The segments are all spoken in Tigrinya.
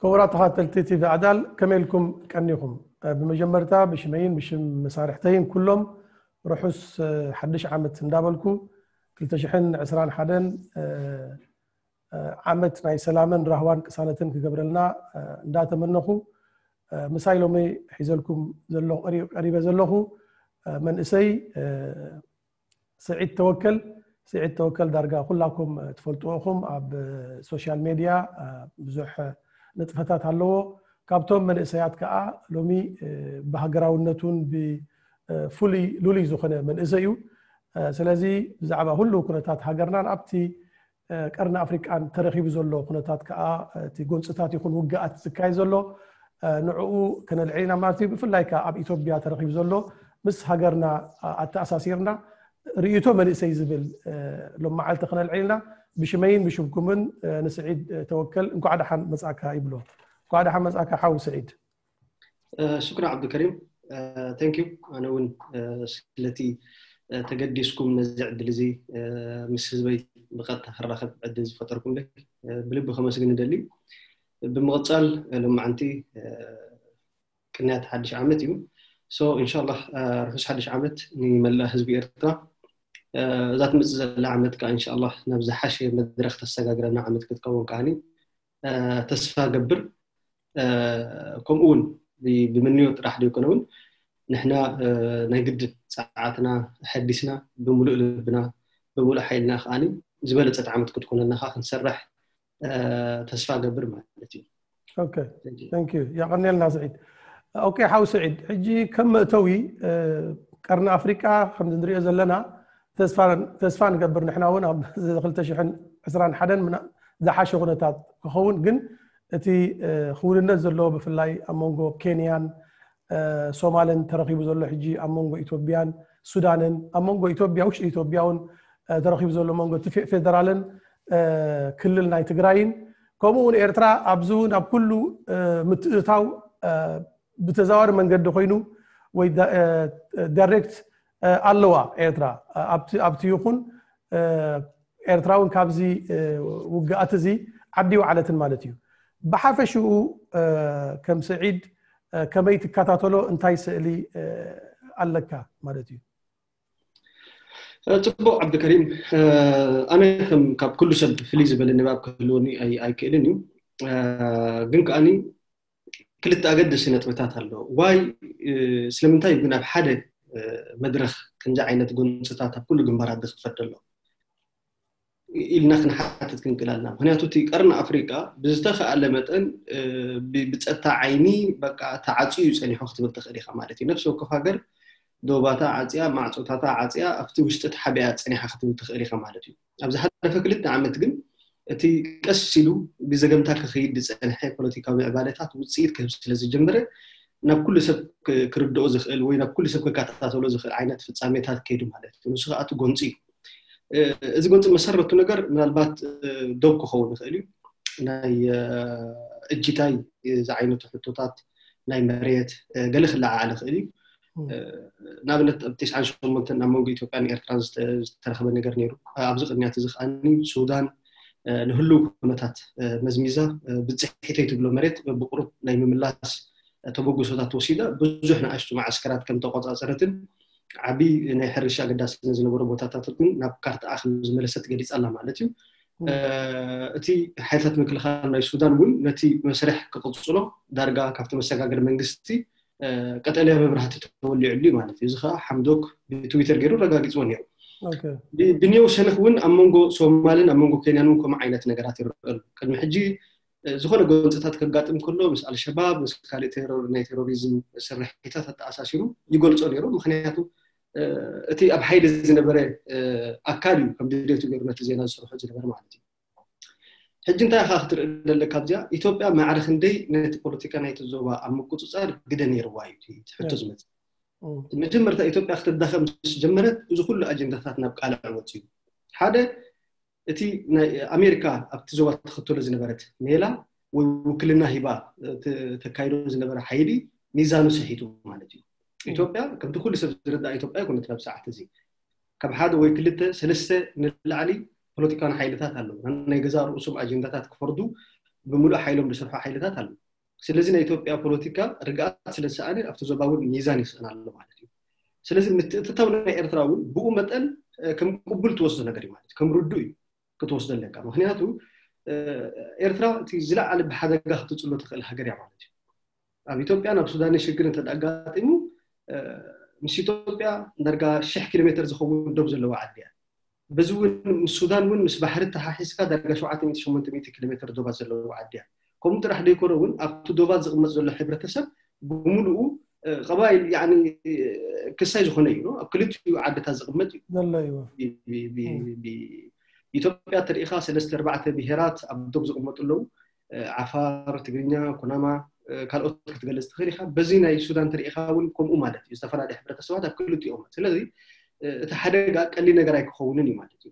ክቡራት ተኸታተልቲ ቲቪ ኣዳል፣ ከመይ ኢልኩም ቀኒኹም? ብመጀመርታ ብሽመይን ብሽም መሳርሕተይን ኩሎም ርሑስ ሓድሽ ዓመት እንዳበልኩ፣ ክልተ ሽሕን ዕስራን ሓደን ዓመት ናይ ሰላምን ራህዋን ቅሳነትን ክገብረልና እንዳተመነኹ፣ ምሳይ ሎሚ ሒዘልኩም ዘለኹ፣ ቀሪበ ዘለኹ መንእሰይ ስዒድ ተወከል። ስዒድ ተወከል ዳርጋ ኩላኩም ትፈልጥዎ ኢኹም። ኣብ ሶሻል ሜድያ ብዙሕ ንጥፈታት ኣለዎ። ካብቶም መንእሰያት ከዓ ሎሚ ብሃገራውነቱን ብፍሉይ ልሉይ ዝኾነ መንእሰይ እዩ። ስለዚ ብዛዕባ ሁሉ ኩነታት ሃገርናን ኣብቲ ቀርኒ ኣፍሪቃን ተረኺቡ ዘሎ ኩነታት ከዓ፣ እቲ ጎንፅታት ይኹን ውግኣት ዝካየድ ዘሎ ንዕኡ ከነልዕል ኢና ማለት እዩ። ብፍላይ ከዓ ኣብ ኢትዮጵያ ተረኺቡ ዘሎ ምስ ሃገርና ኣተኣሳሲርና ርእይቶ መንእሰይ ዝብል ሎም መዓልቲ ከነልዕል ኢና። ብሽመይን ብሽምኩምን ንስዒድ ተወከል እንኳዕ ደሓን መጻእካ ይብሎ። እንኳዕ ደሓን መጻእካ ሓው ስዒድ። ሽኩር ዓብዱልከሪም፣ thank you። ኣነ እውን ስለቲ ተገዲስኩም ነዚ ዕድል እዚ ምስ ህዝበይ ብቐጥታ ክራኸብ ዕድል ዝፈጠርኩምለይ ብልቢ ከመስግን እደሊ። ብምቕፃል ሎማዓንቲ ቅንያት ሓድሽ ዓመት እዩ። So እንሻላ ርሑስ ሓድሽ ዓመት ንመላእ ህዝቢ ኤርትራ። እዛ ትመፅእ ዘላ ዓመት ከዓ እንሻላ ናብ ዝሓሸ መድረክ ተሰጋግረና ዓመት ክትከውን ከዓኒ ተስፋ ገብር። ከምኡ እውን ብመንዮ ጥራሕ ዘይኮነ እውን ንሕና ናይ ግድን ፀዓትና ሐዲስና ብምሉእ ልብና ብምሉእ ሓይልና ከዓኒ ዝበለፀት ዓመት ክትኮነና ከዓ ክንሰርሕ ተስፋ ገብር ማለት እዩ። ኦኬ፣ thank you። የቐንየልና ስዒድ። ኦኬ ሓው ስዒድ፣ ሕጂ ከም መእተዊ ቀርኒ ኣፍሪቃ ከምዚ ንሪኦ ዘለና ተስፋ ንገብር ንሕና እውን ኣብ ክልተ ሽሕን ዕስራን ሓደን ዝሓሸ ኩነታት ክኸውን፣ ግን እቲ ክውንነት ዘለዎ ብፍላይ ኣብ መንጎ ኬንያን ሶማልን ተረኺቡ ዘሎ ሕጂ ኣብ መንጎ ኢትዮጵያን ሱዳንን ኣብ መንጎ ኢትዮጵያ ውሽጢ ኢትዮጵያ እውን ተረኺቡ ዘሎ መንጎ እቲ ፌደራልን ክልል ናይ ትግራይን ከምኡ እውን ኤርትራ ኣብዚ እውን ኣብ ኩሉ ምትእታው ብተዛዋሪ መንገዲ ኮይኑ ወይ ዳይሬክት ኣለዋ ኤርትራ ኣብቲ ይኹን ኤርትራ እውን ካብዚ ውግኣት እዚ ዓዲ ይውዓለትን ማለት እዩ። ብሓፈሽኡ ከም ስዒድ ከመይ ትከታተሎ እንታይ ስእሊ ኣለካ ማለት እዩ? ፅቡቅ ዓብዱልከሪም፣ ኣነ ከም ካብ ኩሉ ሰብ ፍልይ ዝበለ ንባብ ክህልወኒ ኣይክእልን እዩ። ግን ከዓኒ ክልተ ኣገደስቲ ነጥብታት ኣለዎ። ዋይ ስለምንታይ ግን ኣብ ሓደ መድረኽ ከምዚ ዓይነት ጎንፅታት ኣብ ኩሉ ግንባራት ዝኽፈት ዘሎ ኢልና ክንሓትት ክንክእል ኣለና። ምክንያቱ እቲ ቀርኒ ኣፍሪቃ ብዝተኸኣለ መጠን ብፀጥታ ዓይኒ በቃ ተዓፅዩ እዩ ፀኒሑ ክትብል ትኽእል ኢኻ ማለት እዩ። ነፍሲ ወከፍ ሃገር ዶባታ ዓፅያ ማዕፆታታ ዓፅያ ኣብቲ ውሽጢ ተሓቢኣ ፀኒሓ ክትብል ትኽእል ኢኻ ማለት እዩ። ኣብ ዝሓለፈ ክልተ ዓመት ግን እቲ ቀስ ኢሉ ብዘገምታ ክኸይድ ዝፀንሐ ፖለቲካዊ ምዕባለታት ውፅኢት ክህብ ስለ ዝጀመረ ናብ ኩሉ ሰብ ክርድኦ ዝኽእል ወይ ናብ ኩሉ ሰብ ክከታተሎ ዝኽእል ዓይነት ፍፃሜታት ከይዱ ማለት እዩ። ንሱ ከዓ እቲ ጎንፂ እዩ። እዚ ጎንፂ መሰረቱ ነገር ምናልባት ዶብ ክኸውን ይኽእል እዩ። ናይ እጅታይ ዝዓይነቱ ሕቶታት ናይ መሬት ገለ ክለዓዓል ይኽእል እዩ። ንኣብነት ኣብ ተስዓን ሸሞንተን ኣብ መንጎ ኢትዮጵያን ኤርትራን ዝተረኸበ ነገር ነይሩ። ኣብዚ ቅድሚያት እዚ ከዓኒ ሱዳን ንህልው ኩነታት መዝሚዛ ብፅሒተይ ትብሎ መሬት ብቁሩብ ናይ ምምላስ ተበግሶታት ወሲዳ ብዙሕ ንኣሽቱ መዓስከራት ከም ተቆፃፀረትን ዓቢ ናይ ሕርሻ ኣገዳስነት ዝነበሮ ቦታታት እውን ናብ ካርታኣ ከም ዝመለሰት ገሊፃ ኣላ ማለት እዩ። እቲ ሓይልታት ምክልኻል ናይ ሱዳን እውን ነቲ መስርሕ ክቕፅሎ ዳርጋ ካብቲ መሰጋገሪ መንግስቲ ቀጠልያ መብራህቲ ተወሊዕሉ እዩ ማለት እዩ። እዚ ከዓ ሓምዶክ ብትዊተር ገይሩ ረጋጊፅዎ ነይሩ። ብኔው ሸነኽ እውን ኣብ መንጎ ሶማልን ኣብ መንጎ ኬንያን እውን ከምኡ ዓይነት ነገራት ይረኣሉ። ቅድሚ ሕጂ ዝኾነ ጎንፅታት ከጋጥም ከሎ ምስ ኣልሸባብ ምስ ካልእ ናይ ቴሮሪዝም ስርሒታት ኣተኣሳሲሩ ይገልፆ ነይሩ። ምክንያቱ እቲ ኣብ ሓይሊ ዝነበረ ኣካል እዩ ከም ድሌቱ ገይሩ ነቲ ዜና ዝሰርሖ ዝነበረ ማለት እዩ። ሕጂ እንታይ ኢኻ ክትርኢ ዘለካ ኣብዚኣ? ኢትዮጵያ ማዕረ ክንደይ ነቲ ፖለቲካ ናይቲ ዞባ ኣብ ምቁፅፃር ግደ ነይርዋ እዩ እቲ ሕቶ ዝመፅእ። መጀመርታ ኢትዮጵያ ክትዳኸም ምስ ጀመረት እዚ ኩሉ ኣጀንዳታት ናብ ቃልዕ ወፂኡ። ሓደ እቲ ናይ ኣሜሪካ ኣብቲ ዞባ ትኽተሎ ዝነበረት ሜላ ወይ ውክልና ሂባ ተካይዶ ዝነበረ ሓይሊ ሚዛኑ ስሒቱ ማለት እዩ። ኢትዮጵያ ከምቲ ኩሉ ሰብ ዝርዳእ ኢትዮጵያ ኣይኮነትን ኣብ ሰዓት እዚ። ካብ ሓደ ወይ ክልተ ሰለስተ ንላዕሊ ፖለቲካን ሓይልታት ኣለዉ ናይ ገዛ ርእሶም ኣጀንዳታት ክፈርዱ ብምሉእ ሓይሎም ዝሰርሑ ሓይልታት ኣለዉ። ስለዚ ናይ ኢትዮጵያ ፖለቲካ ርግኣት ስለ ዝሰኣነ ኣብቲ ዞባ እውን ሚዛን ይስእን ኣሎ ማለት እዩ። ስለዚ ምትእትታው ናይ ኤርትራ እውን ብኡ መጠን ከም ቅቡል ትወስዶ ነገር እዩ ማለት እዩ። ከም ርዱእ እዩ ክትወስዶ ኣለካ። ምክንያቱ ኤርትራ እቲ ዝለዓለ ብሓደጋ ክትፅሎ ትኽእል ሃገር እያ ማለት እዩ። ኣብ ኢትዮጵያ ናብ ሱዳን ሽግር እንተ ኣጋጢሙ ምስ ኢትዮጵያ ዳርጋ ሽሕ ኪሎ ሜትር ዝኸውን ዶብ ዘለዎ ዓዲ እያ። በዚ እውን ምስ ሱዳን እውን ምስ ባሕሪ ተሓሒዝካ ዳርጋ ሸውዓተ ሚእቲ ሸሞንተ ሚእቲ ኪሎ ሜትር ዶባት ዘለዎ ዓዲ እያ። ከምኡ ጥራሕ ዘይኮነ እውን ኣብቲ ዶባት ዝቕመጥ ዘሎ ሕብረተሰብ ብምሉኡ ቀባይል ክሳይ ዝኾነ እዩ። ኣብ ክልቲኡ ዓድታት ዝቕመጥ እዩ። ኢትዮጵያ ተሪኢኻ ሰለስተ ኣርባዕተ ብሄራት ኣብ ዶብ ዝቕመጡ ኣለዉ። ዓፋር፣ ትግርኛ፣ ኩናማ፣ ካልኦት ክትገልጽ ትኽእል ኢኻ። በዚ ናይ ሱዳን ተሪኢኻ እውን ከምኡ ማለት እዩ። ዝተፈላለዩ ሕብረተሰባት ኣብ ክልቲኦም። ስለዚ እቲ ሓደጋ ቀሊል ነገር ኣይክኸውንን እዩ ማለት እዩ።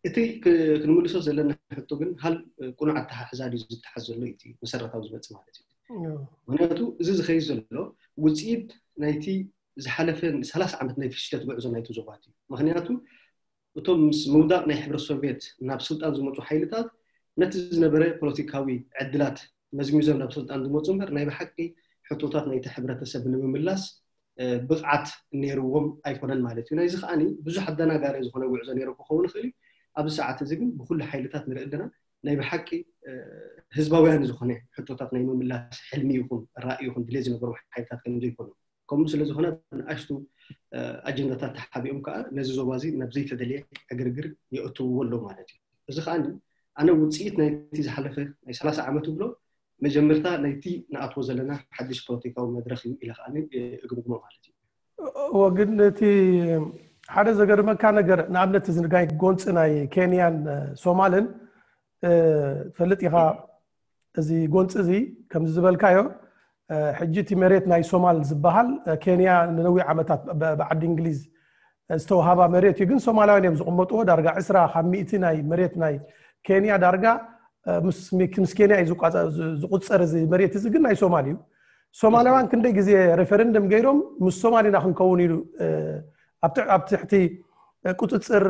እቲ ክንምልሶ ዘለና ሕቶ ግን ሃል ቅኑዕ ኣተሓሕዛ ድዩ ዝተሓዝ ዘሎ እቲ መሰረታዊ ዝመጽእ ማለት እዩ። ምክንያቱ እዚ ዝኸይድ ዘሎ ውፅኢት ናይቲ ዝሓለፈ ሰላሳ ዓመት ናይ ፍሽለት ጉዕዞ ናይቲ ዞባት እዩ። ምክንያቱ እቶም ምስ ምውዳቕ ናይ ሕብረት ሶቪየት ናብ ስልጣን ዝመፁ ሓይልታት ነቲ ዝነበረ ፖለቲካዊ ዕድላት መዝሚዞም ናብ ስልጣን ዝመፁ እምበር ናይ ብሓቂ ሕቶታት ናይቲ ሕብረተሰብ ንምምላስ ብቕዓት ነይርዎም ኣይኮነን ማለት እዩ። ናይዚ ከዓኒ ብዙሕ ኣደናጋሪ ዝኾነ ጉዕዞ ነይሩ ክኸውን ይኽእል እዩ። ኣብዚ ሰዓት እዚ ግን ብኩሉ ሓይልታት ንርኢ ኣለና። ናይ ብሓቂ ህዝባውያን ዝኾነ ሕቶታት ናይ ምምላስ ሕልሚ ይኹን ራእይ ይኹን ድሌት ዝነበሩ ሓይልታት ከም ዘይኮኑ ከምኡ ስለ ዝኾነ ንኣሽቱ ኣጀንዳታት ተሓቢኦም ከዓ ነዚ ዞባ እዚ ናብ ዘይተደልየ ዕግርግር የእትውዎ ኣለዉ ማለት እዩ። እዚ ከዓ ኣነ ውፅኢት ናይቲ ዝሓለፈ ናይ ሰላሳ ዓመት ብሎ መጀመርታ ናይቲ ንኣትዎ ዘለና ሓድሽ ፖለቲካዊ መድረክ እዩ ኢለ ከዓ እግምግሞ ማለት እዩ። እወ ግን እቲ ሓደ ዘገርመካ ነገር ንኣብነት እዚ ናይ ጎንፂ ናይ ኬንያን ሶማልን ትፈልጥ ኢኻ። እዚ ጎንፂ እዚ ከምዚ ዝበልካዮ ሕጂ እቲ መሬት ናይ ሶማል ዝበሃል ኬንያ ንነዊሕ ዓመታት ብዓዲ እንግሊዝ ዝተውሃባ መሬት እዩ። ግን ሶማላውያን እዮም ዝቕመጥዎ። ዳርጋ ዕስራ ካብ ሚእቲ ናይ መሬት ናይ ኬንያ ዳርጋ ምስ ኬንያ እዩ ዝቁፀር። እዚ መሬት እዚ ግን ናይ ሶማል እዩ። ሶማላውያን ክንደይ ግዜ ሬፈረንደም ገይሮም ምስ ሶማል ኢና ክንከውን ኢሉ ኣብ ትሕቲ ቁፅፅር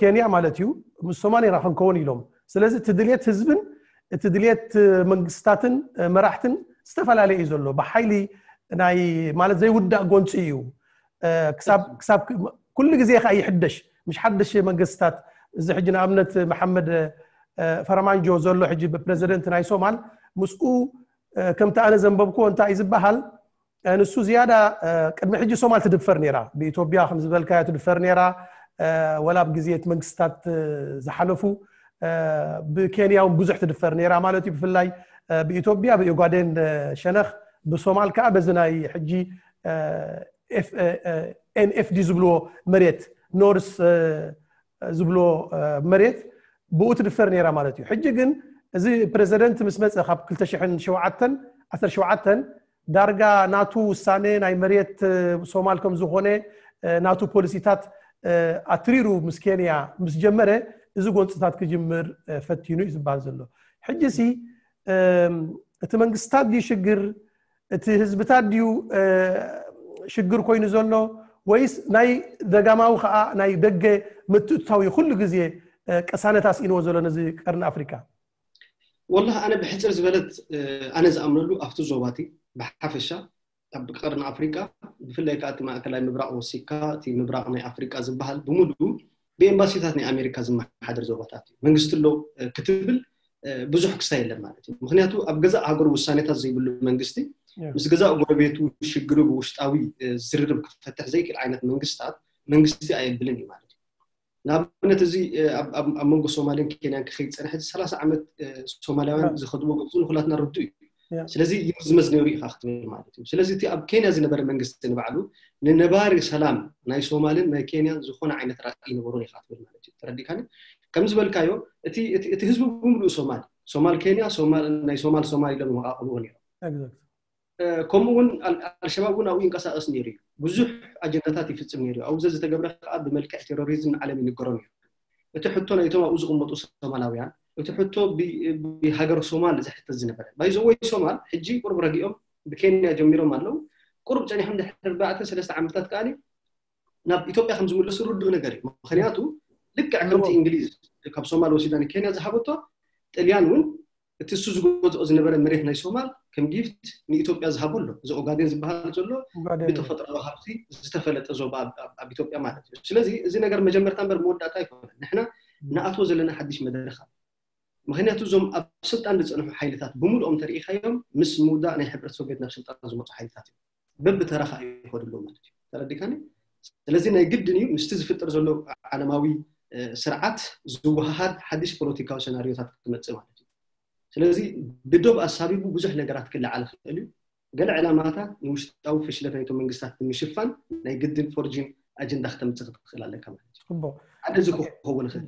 ኬንያ ማለት እዩ ምስ ሶማል ኢና ክንከውን ኢሎም። ስለዚ እቲ ድልየት ህዝብን እቲ ድልየት መንግስታትን መራሕትን ዝተፈላለየ እዩ ዘሎ። ብሓይሊ ናይ ማለት ዘይውዳእ ጎንፂ እዩ። ክሳብ ኩሉ ግዜ ከዓ ይሕደሽ። ምሽ ሓደሽ መንግስታት እዚ ሕጂ ንኣብነት መሓመድ ፈረማንጆ ዘሎ ሕጂ ብፕረዚደንት ናይ ሶማል ምስኡ ከምቲ ኣነ ዘንበብኩዎ እንታይ እዩ ዝበሃል ንሱ ዝያዳ ቅድሚ ሕጂ ሶማል ትድፈር ነይራ። ብኢትዮጵያ ከም ዝበልካዮ ትድፈር ነይራ። ወላ ኣብ ግዜ እቲ መንግስታት ዝሓለፉ ብኬንያ እውን ብዙሕ ትድፈር ነይራ ማለት እዩ። ብፍላይ ብኢትዮጵያ ብኦጋዴን ሸነኽ ብሶማል ከዓ በዚ ናይ ሕጂ ኤንኤፍዲ ዝብልዎ መሬት ኖርስ ዝብሎ መሬት ብኡ ትድፈር ነይራ ማለት እዩ። ሕጂ ግን እዚ ፕረዚደንት ምስ መፀ ካብ ክልተ ሽሕን ሸውዓተን ዓሰርተ ሸውዓተ ዳርጋ ናቱ ውሳነ ናይ መሬት ሶማል ከም ዝኾነ ናቱ ፖሊሲታት ኣትሪሩ ምስ ኬንያ ምስ ጀመረ እዚ ጎንፅታት ክጅምር ፈቲኑ እዩ ዝበሃል ዘሎ። ሕጂ ሲ እቲ መንግስታት ድዩ ሽግር እቲ ህዝብታት ድዩ ሽግር ኮይኑ ዘሎ ወይስ ናይ ደጋማዊ ከዓ ናይ ደገ ምትእትታው እዩ ኩሉ ግዜ ቅሳነት ኣስኢንዎ ዘሎ ነዚ ቀርኒ ኣፍሪካ? ወላሂ ኣነ ብሕፅር ዝበለት ኣነ ዝኣምነሉ ኣብቲ ዞባቲ ብሓፈሻ ኣብ ቀርኒ ኣፍሪቃ ብፍላይ ከዓ እቲ ማእከላይ ምብራቕ ወሲካ እቲ ምብራቕ ናይ ኣፍሪቃ ዝበሃል ብምሉኡ ብኤምባሲታት ናይ ኣሜሪካ ዝመሓደር ዞባታት እዩ። መንግስቲ ኣሎ ክትብል ብዙሕ ክስታይ የለን ማለት እዩ። ምክንያቱ ኣብ ገዛእ ሃገሩ ውሳኔታት ዘይብሉ መንግስቲ ምስ ገዛእ ጎረቤቱ ሽግሩ ብውሽጣዊ ዝርርብ ክፈትሕ ዘይክእል ዓይነት መንግስታት መንግስቲ ኣየብልን እዩ ማለት እዩ። ንኣብነት እዚ ኣብ መንጎ ሶማልን ኬንያን ክኸይድ ዝፀንሐ ሰላሳ ዓመት ሶማላውያን ዝኸድዎ ገፁ ንኩላትና ርዱ እዩ። ስለዚ ይምዝመዝ ነይሩ ኢኻ ክትብል ማለት እዩ። ስለዚ እቲ ኣብ ኬንያ ዝነበረ መንግስቲ ንባዕሉ ንነባሪ ሰላም ናይ ሶማልን ናይ ኬንያን ዝኾነ ዓይነት ራእይ ነበሮን ኢኻ ክትብል ማለት እዩ። ተረዲእካኒ? ከም ዝበልካዮ እቲ ህዝቢ ብምሉኡ ሶማል ሶማል ኬንያ ናይ ሶማል ሶማል ኢሎም ይመቃቅልዎ ነይሮም። ከምኡ እውን ኣልሸባብ እውን ኣብኡ ይንቀሳቀስ ነይሩ እዩ። ብዙሕ ኣጀንዳታት ይፍፅም ነይሩ እዩ። ኣብኡ ዝተገብረ ከዓ ብመልክዕ ቴሮሪዝም ንዓለም ይንገሮ ነይሩ። እቲ ሕቶ ናይቶም ኣብኡ ዝቕመጡ ሶማላውያን እቲ ሕቶ ብሃገር ሶማል ዘሕተት ዝነበረ ባይዘወይ ሶማል ሕጂ ቁሩብ ረጊኦም ብኬንያ ጀሚሮም ኣለዉ። ቁሩብ ፀኒሖም ድሕሪ ኣርባዕተ ሰለስተ ዓመታት ከዓ ናብ ኢትዮጵያ ከም ዝምለሱ ርዱእ ነገር እዩ። ምክንያቱ ልክዕ ከምቲ እንግሊዝ ካብ ሶማል ወሲዳ ንኬንያ ዝሃበቶ ጥልያን እውን እቲ እሱ ዝገዝኦ ዝነበረ መሬት ናይ ሶማል ከም ጊፍት ንኢትዮጵያ ዝሃቦ ኣሎ። እዚ ኦጋዴን ዝበሃል ዘሎ ኦጋዴን። ብተፈጥሮዊ ሃብቲ ዝተፈለጠ ዞባ ኣብ- ኣብ- ኣብ ኢትዮጵያ ማለት እዩ። ስለዚ እዚ ነገር መጀመርታ እምበር መወዳእታ ኣይኮነን። ንሕና ንኣትዎ ዘለና ሓድሽ መድረኽ ኣሎ። ምክንያቱ እዞም ኣብ ስልጣን ዝፀንሑ ሓይልታት ብምሉኦም ተሪኢኻዮም ምስ ምውዳእ ናይ ሕብረት ሶቪየት ናብ ስልጣን ዝመፁ ሓይልታት እዮም። በብተራ ከዓ ይኸዱ ኣለዉ ማለት እዩ። ተረዲካኒ? ስለዚ ናይ ግድን እዩ ምስቲ ዝፍጠር ዘሎ ዓለማዊ እ፣ ስርዓት ዝወሃሃድ ሓድሽ ፖለቲካዊ ሰናሪዮታት ክመፅእ ማለት እዩ። ስለዚ ብዶብ ኣሳቢቡ ብዙሕ ነገራት ክለዓል ይኽእል እዩ። ገለ ዕላማታት ንውሽጣዊ ፍሽለት ናይቶም መንግስታት ንምሽፋን ናይ ግድን ፎርጂን ኣጀንዳ ክተምፅእ ክትኽእል ኣለካ ማለት እዩ። ጽቡቕ። ሓደ እዚ ክኸውን ይኽእል።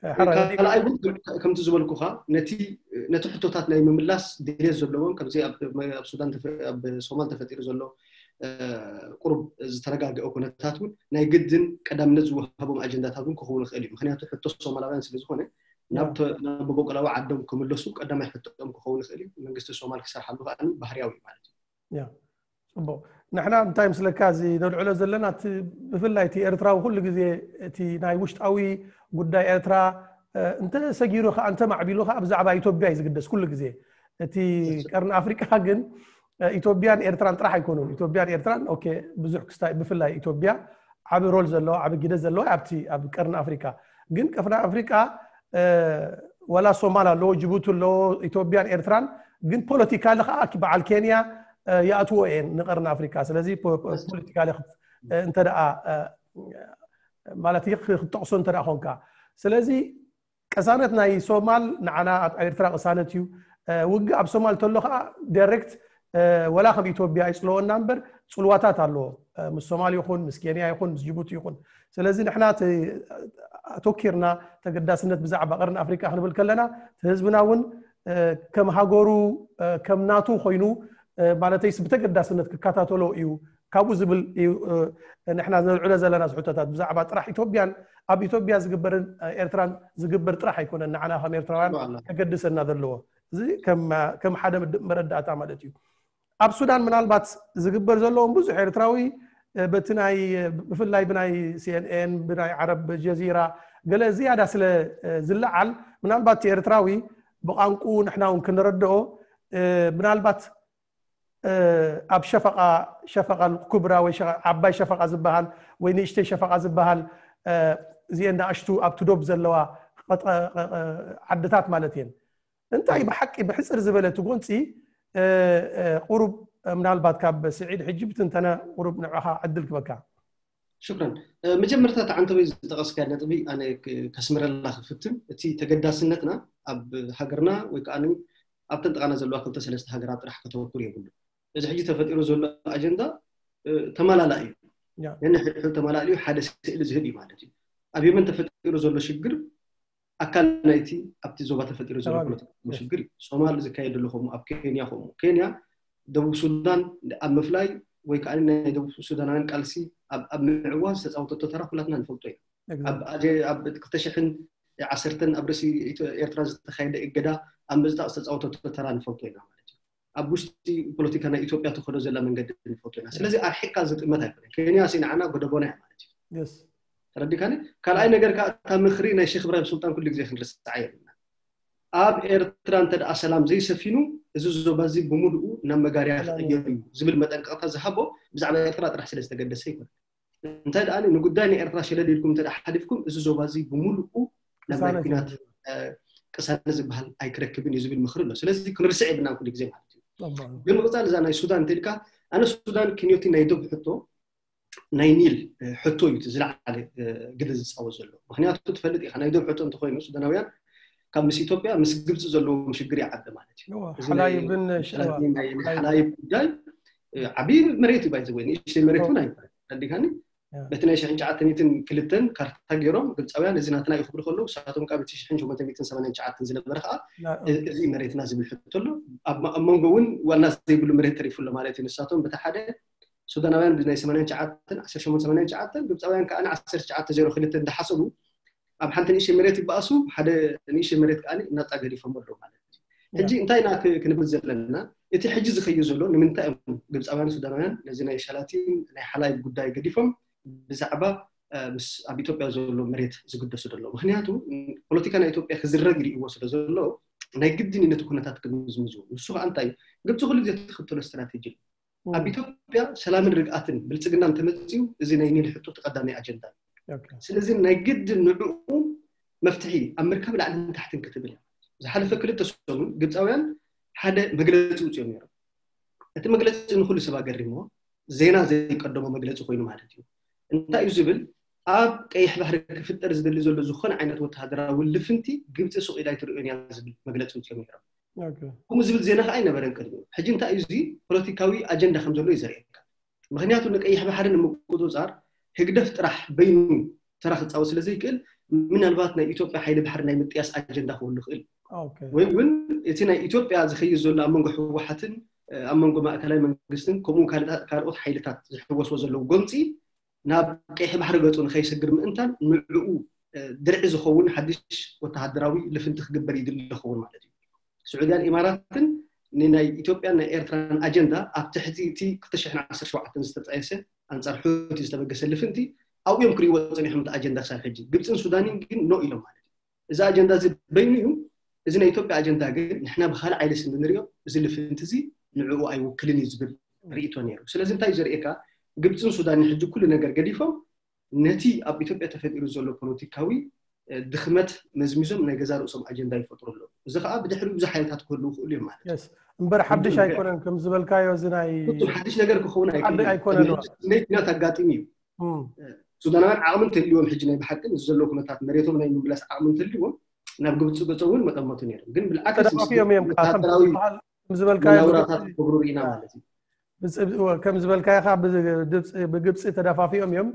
ሕራይ፣ ካልኣይ እውን ከምቲ ዝበልኩኻ ነቲ ነቲ ሕቶታት ናይ ምምላስ ድሌት ዘለዎም ከምዚ ኣብ ኣብ ሱዳን ተፈ- ኣብ ሶማል ተፈጢሩ ዘሎ እ፣ ቁሩብ ዝተረጋገአ ኩነታት እውን ናይ ግድን ቀዳምነት ዝወሃቦም ኣጀንዳታት እውን ክኸውን ይኽእል እዩ። ምክንያቱ ሕቶ ሶማላውያን ስለ ዝኾነ ናብ ተ- ናብ መበቆላዊ ዓዶም ክምለሱ ቀዳማይ ሕቶኦም ክኸውን ይኽእል እዩ። መንግስቲ ሶማል ክሰርሓሉ ከዓ ባህርያዊ እዩ ማለት እዩ። ያ ጽቡቕ። ንሕና እንታይ ምስለካ እዚ ነልዕሎ ዘለና እቲ ብፍላይ እቲ ኤርትራዊ ኩሉ ግዜ እቲ ናይ ውሽጣዊ ጉዳይ ኤርትራ እ፣ እንተ ሰጊሩ ከዓ እንተ ማዕቢሉ ከዓ ብዛዕባ ኢትዮጵያ እዩ ዝግደስ ኩሉ ግዜ። እቲ ቀርኒ ኣፍሪቃ ግን እ፣ ኢትዮጵያን ኤርትራን ጥራሕ ኣይኮኑን። ኢትዮጵያን ኤርትራን ኦኬ ብዙሕ ክስታይ ብፍላይ ኢትዮጵያ ዓቢ ሮል ዘለዋ ዓቢ ግደ ዘለዋ ኣብቲ ኣብ ቀርኒ ኣፍሪቃ ግን ቀርኒ ኣፍሪቃ እ፣ ወላ ሶማል ኣለዎ ጅቡቲ ኣለዎ ኢትዮጵያን ኤርትራን ግን ፖለቲካሊ ከዓ በዓል ኬንያ እ፣ ይኣትዎ እየን ንቀርኒ ኣፍሪቃ። ስለዚ ፖ- ፖ- ፖለቲካሊ ክት- እ፣ እንተ ደኣ እ፣ ማለት ይኽ- ክትጠቕሶ እንተ ደኣ ኮንካ ስለዚ ቅሳነት ናይ ሶማል ንዓና ኣብ ኤርትራ ቅሳነት እዩ። እ፣ ውግእ ኣብ ሶማል ተሎ ከዓ ዳይሬክት እ፣ ወላ ከም ኢትዮጵያ ይፅልወና እምበር ፅልዋታት ኣለዎ እ፣ ምስ ሶማል ይኹን ምስ ኬንያ ይኹን ምስ ጅቡቲ ይኹን። ስለዚ ንሕና እቲ ኣተኪርና ተገዳስነት ብዛዕባ ቀርኒ ኣፍሪቃ ክንብል ከለና እቲ ህዝብና እውን እ፣ ከም ሃገሩ እ፣ ከም ናቱ ኮይኑ እ፣ ማለተይስ ብተገዳስነት ክከታተሎ እዩ ካብኡ ዝብል እዩ እ፣ ንሕና ነልዕሎ ዘለና ዝሕቶታት ብዛዕባ ጥራሕ ኢትዮጵያን ኣብ ኢትዮጵያ ዝግበርን እ፣ ኤርትራን ዝግበር ጥራሕ ኣይኮነን ንዓና ከም ኤርትራውያን ዋላ። ከገድሰና ዘለዎ። እዚ ከም ከም ሓደ ምድ- መረዳእታ ማለት እዩ። ኣብ ሱዳን ምናልባት ዝግበር ዘለዎም ብዙሕ ኤርትራዊ እ፣ በቲ ናይ ብፍላይ ብናይ ሲኤንኤን ብናይ ዓረብ ጀዚራ ገለ ዝያዳ ስለ እ፣ ዝለዓል ምናልባት ኤርትራዊ ብቋንቁ ንሕና እውን ክንረድኦ እ፣ ምናልባት እ፣ ኣብ ሸፈቃ ሸፈቃ ኩብራ ወይ ሸ- ዓባይ ሸፈቃ ዝበሃል ወይ ንእሽተይ ሸፈቃ ዝበሃል እ፣ እዚአን ንኣሽቱ ኣብቲ ዶብ ዘለዋ ቀጠ- እ፣ እ፣ ዓድታት ማለት እየን። እንታይ ብሓቂ ብሕፅር ዝበለ እቲ ጎንፂ እ፣ እ፣ ቁሩብ እ፣ ምናልባት ካብ ስዒድ ሕጂ ብትንተነ ቁሩብ ንዕኻ ዕድል ክበካ። ሽክረን። እ፣ መጀመርታ እቲ ዓንተበይ ዝጠቐስካ ነጥቢ ኣነ ክ- ከስምረላ ክፍትን እቲ ተገዳስነትና ኣብ ሃገርና ወይ ከዓ ኣብተን ጥቃና ዘለዋ ክልተ ሰለስተ ሃገራት ጥራሕ ከተወኩር የብሉ። እዚ ሕጂ ተፈጢሩ ዘሎ ኣጀንዳ እ፣ ተመላላእ እዩ። ያ። ነንሕድሕዱ ተመላልዩ ሓደ ስእሊ ዝህብ እዩ ማለት እዩ። ኣብ የመን ተፈጢሩ ዘሎ ሽግር ኣካል ናይቲ ኣብቲ ዞባ ተፈጢሩ ዘሎ ከባቢ። ፖለቲካዊ ሽግር እዩ። ሶማል ዝካየድ ዘሎ ከምኡ ኣብ ኬንያ ከምኡ ኬንያ ደቡብ ሱዳን ኣብ ምፍላይ ወይ ከዓ ናይ ደቡብ ሱዳናውያን ቃልሲ ኣብ ኣብ ምዕዋት ዝተፃወተቶ ተራ ኩላትና ንፈልጦ ኢና። ኣብ ኣጀ- ኣብ ክልተ ሽሕን ዓሰርተን ኣብ ርእሲ ኢትዮ- ኤርትራ ዝተኻየደ እገዳ ኣብ ምዝጣቕ ዝተፃወተቶ ተራ ንፈልጦ ኢና ማለት እዩ። ኣብ ውሽጢ ፖለቲካ ናይ ኢትዮጵያ ትኸዶ ዘላ መንገዲ ንፈልጦ ኢና። ስለዚ ኣርሒቅካ ዝጥመት ኣይኮነን። ኬንያ ሲ ንዓና ጎደቦና እያ ማለት እዩ። የስ ተረዲካኒ? ካልኣይ ነገር ከዓ እታ ምኽሪ ናይ ሼክ እብራሂም ሱልጣን ኩሉ ግዜ ክንርስዓ የብልና። ኣብ ኤርትራ እንተ ደኣ ሰላም ዘይሰፊኑ እዚ ዞባ እዚ ብምሉኡ ናብ መጋርያ ክቕየር እዩ ዝብል መጠንቀቕታ ዝሃቦ ብዛዕባ ኤርትራ ጥራሕ ስለ ዝተገደሰ ይኮነ። እንታይ ደኣ ንጉዳይ ናይ ኤርትራ ሸለል ኢልኩም እንተ ደኣ ሓሊፍኩም እዚ ዞባ እዚ ብምሉኡ ናብ ናይ ቅሳነት ኩናት እዩ። እ፣ ቅሳነት ዝበሃል ኣይክረክብን እዩ ዝብል ምኽሪ ኣሎ። ስለዚ ክንርስዕ የብልናን ኩሉ ግዜ ማለት እዩ። ጸቡቕ። ብምቕጻል እዛ ናይ ሱዳን እንተ ኢልካ ኣነ ሱዳን ክንዮቲ ናይ ዶብ ሕቶ ናይ ኒል እ፣ ሕቶ እዩ እቲ ዝለዓለ እ፣ ግደ ዝጻወት ዘሎ። ምክንያቱ ትፈልጥ ኢኻ ናይ ዶብ ሕቶ እንተኮይኑ ሱዳናውያን ካብ ምስ ኢትዮጵያ ምስ ግብፂ ዘለዎም ሽግር ይዓቢ ማለት እዩ። እዋ፣ እዚ ናይ ሓላይብን ሸዋ- ሸላቲን ናይ ናይ ሓላይብ- ሓላይብ ጉዳይ እ፣ ዓብዪ መሬት እዩ ባይዘወይ ንእሽተይ መሬት እውን ኣይኮነን። ተረዲካኒ? ያ። በቲ ናይ ሽሕን ትሽዓተ ሚእትን ክልተን ካርታ ገይሮም ግብፃውያን እዚ ናትና እዩ ክብሉ ከለዉ ንሳቶም ካብ እቲ ሽሕን ሸሞንተ ሚእትን ሰማንያን ትሽዓተን ዝነበረ ከዓ ና- እዚ መሬትና ዝብል ሕቶ ኣሎ። ኣብ ኣብ መንጎ እውን ዋና ዘይብሉ መሬት ተሪፉ ኣሎ ማለት እዩ። ንሳቶም በቲ ሓደ ሱዳናውያን ብናይ ሰማንያን ትሽዓተን ዓሰርተ ሸሞንተ ሰማንያን ትሽዓተን ግብፃውያን ከዓ ዓሰርተ ትሽዓተ ዜሮ ክልተ እንዳሓሰቡ ኣብ ሓንቲ ንእሽተይ መሬት ይበኣሱ፣ ሓደ ንእሽተይ መሬት ከዓ ናፃ ገዲፎም ኣለዉ ማለት እዩ። ሕጂ እንታይ ኢና ክ- ክንብል ዘለና? እቲ ሕጂ ዝኸይድ ዘሎ ንምንታይ እዮም ግብፃውያን ሱዳናውያን ነዚ ናይ ሸላቲን ናይ ሓላይብ ጉዳይ ገዲፎም ብዛዕባ እ፣ ምስ ኣብ ኢትዮጵያ ዘሎ መሬት ዝግደሱ ዘሎ? ምክንያቱ ፖለቲካ ናይ ኢትዮጵያ ክዝረግ ይርእይዎ ስለ ዘሎ ናይ ግድን እዩ ነቲ ኩነታት ክምዝምዝዎ። ንሱ ከዓ እንታይ እዩ? ግብፂ ኩሉ ግዜ ትኽተሎ ስትራቴጂ እዩ። ኣብ ኢትዮጵያ ሰላምን ርግኣትን ብልፅግናን ተመፅኡ፣ እዚ ናይ ኒል ሕቶ ተቐዳሚ ኣጀንዳ እዩ። ስለዚ ናይ ግድን ንዕኡ መፍትሒ ኣብ ምርካብ ላዕልን ታሕትን ክትብል እያ። ዝሓለፈ ክልተ ሰሙን ግብፃውያን ሓደ መግለፂ ውፅኦም ነይሮም። እቲ መግለፂ ንኩሉ ሰብ ኣገሪምዎ፣ ዜና ዘይቀደሞ መግለፂ ኮይኑ ማለት እዩ። እንታይ እዩ ዝብል? ኣብ ቀይሕ ባሕሪ ክፍጠር ዝደሊ ዘሎ ዝኾነ ዓይነት ወተሃደራዊ ልፍንቲ ግብፂ ሱቕ ኢላ ኣይትርእዮን እያ ዝብል መግለፂ ውፅኦም ነይሮም። ከምኡ ዝብል ዜና ከዓ ኣይነበረን ቅድሚኡ። ሕጂ እንታይ እዩ እዚ? ፖለቲካዊ ኣጀንዳ ከም ዘሎ እዩ ዘርእየካ። ምክንያቱ ንቀይሕ ባሕሪ ንምቁፅፃር ህግደፍ ጥራሕ በይኑ ተራ ክፃወት ስለ ዘይክእል፣ ምናልባት ናይ ኢትዮጵያ ሓይሊ ባሕሪ ናይ ምጥያስ ኣጀንዳ ክህሉ ይኽእል። ወይ እውን እቲ ናይ ኢትዮጵያ ዝኸይድ ዘሎ ኣብ መንጎ ህወሓትን ኣብ መንጎ ማእከላይ መንግስትን ከምኡ ካልኦት ሓይልታት ዝሕወስዎ ዘለዉ ጎንፂ ናብ ቀይሕ ባሕሪ ገፁ ንኸይሰግር ምእንታን ንዕኡ ድርዒ ዝኸውን ሓድሽ ወተሃደራዊ ልፍንቲ ክግበር ይድሊ ይኸውን ማለት እዩ። ስዑድያን ኢማራትን ንናይ ኢትዮጵያን ናይ ኤርትራን ኣጀንዳ ኣብ ትሕቲ እቲ ክልተ ሽሕን ዓሰርተ ሸውዓተን ዝተጣየሰ ኣንጻር ሑቲ ዝተበገሰ ልፍንቲ ኣብኡ እዮም ክርእይዎ ጸኒሖም እቲ ኣጀንዳ ክሳብ ሕጂ። ግብጽን ሱዳንን ግን ኖ ኢሎም ማለት እዩ። እዚ ኣጀንዳ እዚ በይኑ እዩ። እዚ ናይ ኢትዮጵያ ኣጀንዳ ግን ንሕና ብኻልእ ዓይነ ስለ ንሪኦ እዚ ልፍንቲ እዚ ንዕኡ ኣይውክልን እዩ ዝብል ርእይቶ ነይሩ። ስለዚ እንታይ እዩ ዘርእየካ? ግብጽን ሱዳንን ሕጂ ኩሉ ነገር ገዲፎም ነቲ ኣብ ኢትዮጵያ ተፈጢሩ ዘሎ ፖለቲካዊ ድኽመት መዝሚዞም ናይ ገዛ ርእሶም ኣጀንዳ ይፈጥሩ ኣለዉ። እዚ ከዓ ብድሕሪኡ ብዙሕ ሓይልታት ክህልዉ ይኽእሉ እዮም ማለት እዩ። እምበር ሓድሽ ኣይኮነን ከም ዝበልካዮ እዚ ናይ ፍጹም ሓድሽ ነገር ክኸውን ኣይኮነን። ናይ ኩናት ኣጋጢሙ እዩ። ሱዳናውያን ዓቕሚ እንተልዎም ሕጂ ናይ ብሓቂ ምስ ዘለዎ ኩነታት መሬቶም ናይ ምምላስ ዓቕሚ እንተልዎም ናብ ግብፂ ገፆም እውን መጠመቱ ነይሮም። ግን ብልዓክስ ተደፋፊኦም እዮም ወታደራዊ ዝበልካዮ መናውራታት ክገብሩ ርኢና ማለት እዩ። ከም ዝበልካዮ ብግብፂ ተደፋፊኦም እዮም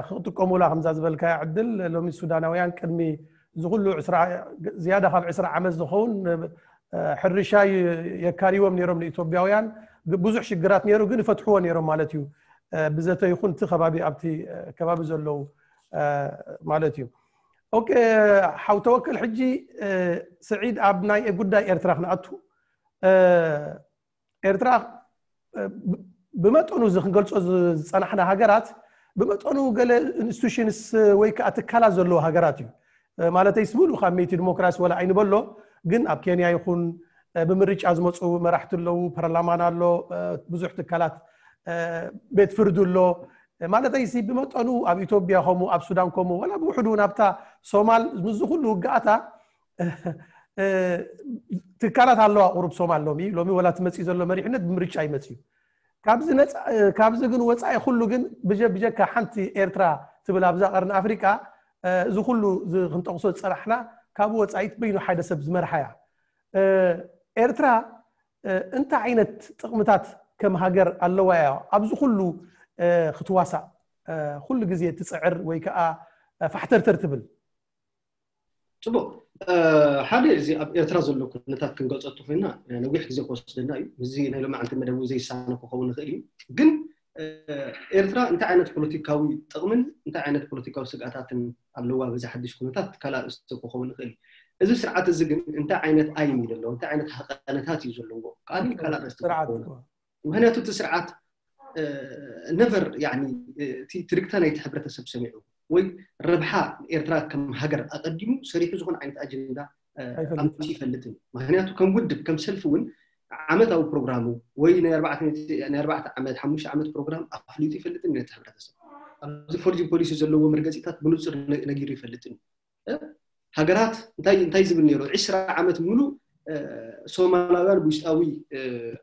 ክጥቀሙላ። ከምዛ ዝበልካዮ ዕድል ሎሚ ሱዳናውያን ቅድሚ እዚ ኩሉ ዝያዳ ካብ ዕስራ ዓመት ዝኸውን ሕርሻ የካርይዎም ነይሮም ንኢትዮጵያውያን። ብዙሕ ሽግራት ነይሩ ግን ይፈትሕዎ ነይሮም ማለት እዩ። ብዘተ ይኹን እቲ ከባቢ ኣብቲ ከባቢ ዘለዉ ማለት እዩ። ኦኬ ሓው ተወክል፣ ሕጂ ስዒድ ኣብ ናይ ጉዳይ ኤርትራ ክንኣቱ። ኤርትራ ብመጠኑ እዚ ክንገልጾ ዝጸናሕና ሃገራት ብመጠኑ ገለ ኢንስቲቱሽንስ ወይ ከዓ ትካላት ዘለዎ ሃገራት እዩ። ማለተይ ስሙሉ ካብ መይቲ ዲሞክራሲ ወላ ኣይንበሎ፣ ግን ኣብ ኬንያ ይኹን ብምርጫ ዝመፁ መራሕቲ ኣለዉ፣ ፓርላማን ኣሎ፣ ብዙሕ ትካላት ቤት ፍርዲ ኣሎ። ማለተይ ሲ ብመጠኑ ኣብ ኢትዮጵያ ከምኡ ኣብ ሱዳን ከምኡ ወላ ብውሕዱ እውን ኣብታ ሶማል ምስዚ ኩሉ ውግኣታ ትካላት ኣለዋ ቁሩብ ሶማል ሎሚ ሎሚ ወላ ትመፅእ ዘሎ መሪሕነት ብምርጫ ይመፅእ እዩ። ካብዚ ግን ወፃኢ ኩሉ ግን ብጀካ ሓንቲ ኤርትራ ትብል ኣብዛ ቀርኒ ኣፍሪቃ እዚ ኩሉ ክንጠቕሶ ዝፀናሕና ካብኡ ወፃኢት በይኑ ሓደ ሰብ ዝመርሓ እያ። ኤርትራ እንታይ ዓይነት ጥቕምታት ከም ሃገር ኣለዋ እያ ኣብዚ ኩሉ ክትዋሳእ ኩሉ ግዜ ትፅዕር ወይ ከዓ ፋሕተርተር ትብል? ፅቡቅ፣ ሓደ እዚ ኣብ ኤርትራ ዘሎ ኩነታት ክንገልፀቱ ኮይና ነዊሕ ግዜ ክወስደና እዩ። እዚ ናይ ሎማዓንቲ መደብ እውን ዘይሳነ ክኸውን ይኽእል እዩ። ግን ኤርትራ እንታይ ዓይነት ፖለቲካዊ ጥቕምን እንታይ ዓይነት ፖለቲካዊ ስግኣታትን ኣለዋ በዚ ሓድሽ ኩነታት ካልእ ኣርእስቲ ክኸውን ይኽእል እዩ። እዚ ስርዓት እዚ ግን እንታይ ዓይነት ዓይኒ እዩ ዘለዎ፣ እንታይ ዓይነት ሃቐነታት እዩ ዘለዎ ካልእ ካልእ ኣርእስቲ ክኸውን። ምክንያቱ እቲ ስርዓት ነቨር እቲ ትርግታ ናይቲ ሕብረተሰብ ሰሚዑ ወይ ረብሓ ኤርትራ ከም ሃገር ኣቐዲሙ ሰሪሑ ዝኾነ ዓይነት ኣጀንዳ ኣምፂ ይፈልጥን። ምክንያቱ ከም ውድብ ከም ሰልፊ እውን ዓመታዊ ፕሮግራሙ ወይ ናይ ኣርባዕተ ዓመት ሓሙሽተ ዓመት ፕሮግራም ኣፍሊጡ ይፈልጥን ነቲ ሕብረተሰብ። ኣብዚ ፎርጅን ፖሊሲ ዘለዎ መርገፂታት ብንፁር ነጊሩ ይፈልጥን። ሃገራት እንታይ እንታይ ዝብል ነይሩ ዕስራ ዓመት ሙሉእ ሶማላውያን ብውሽጣዊ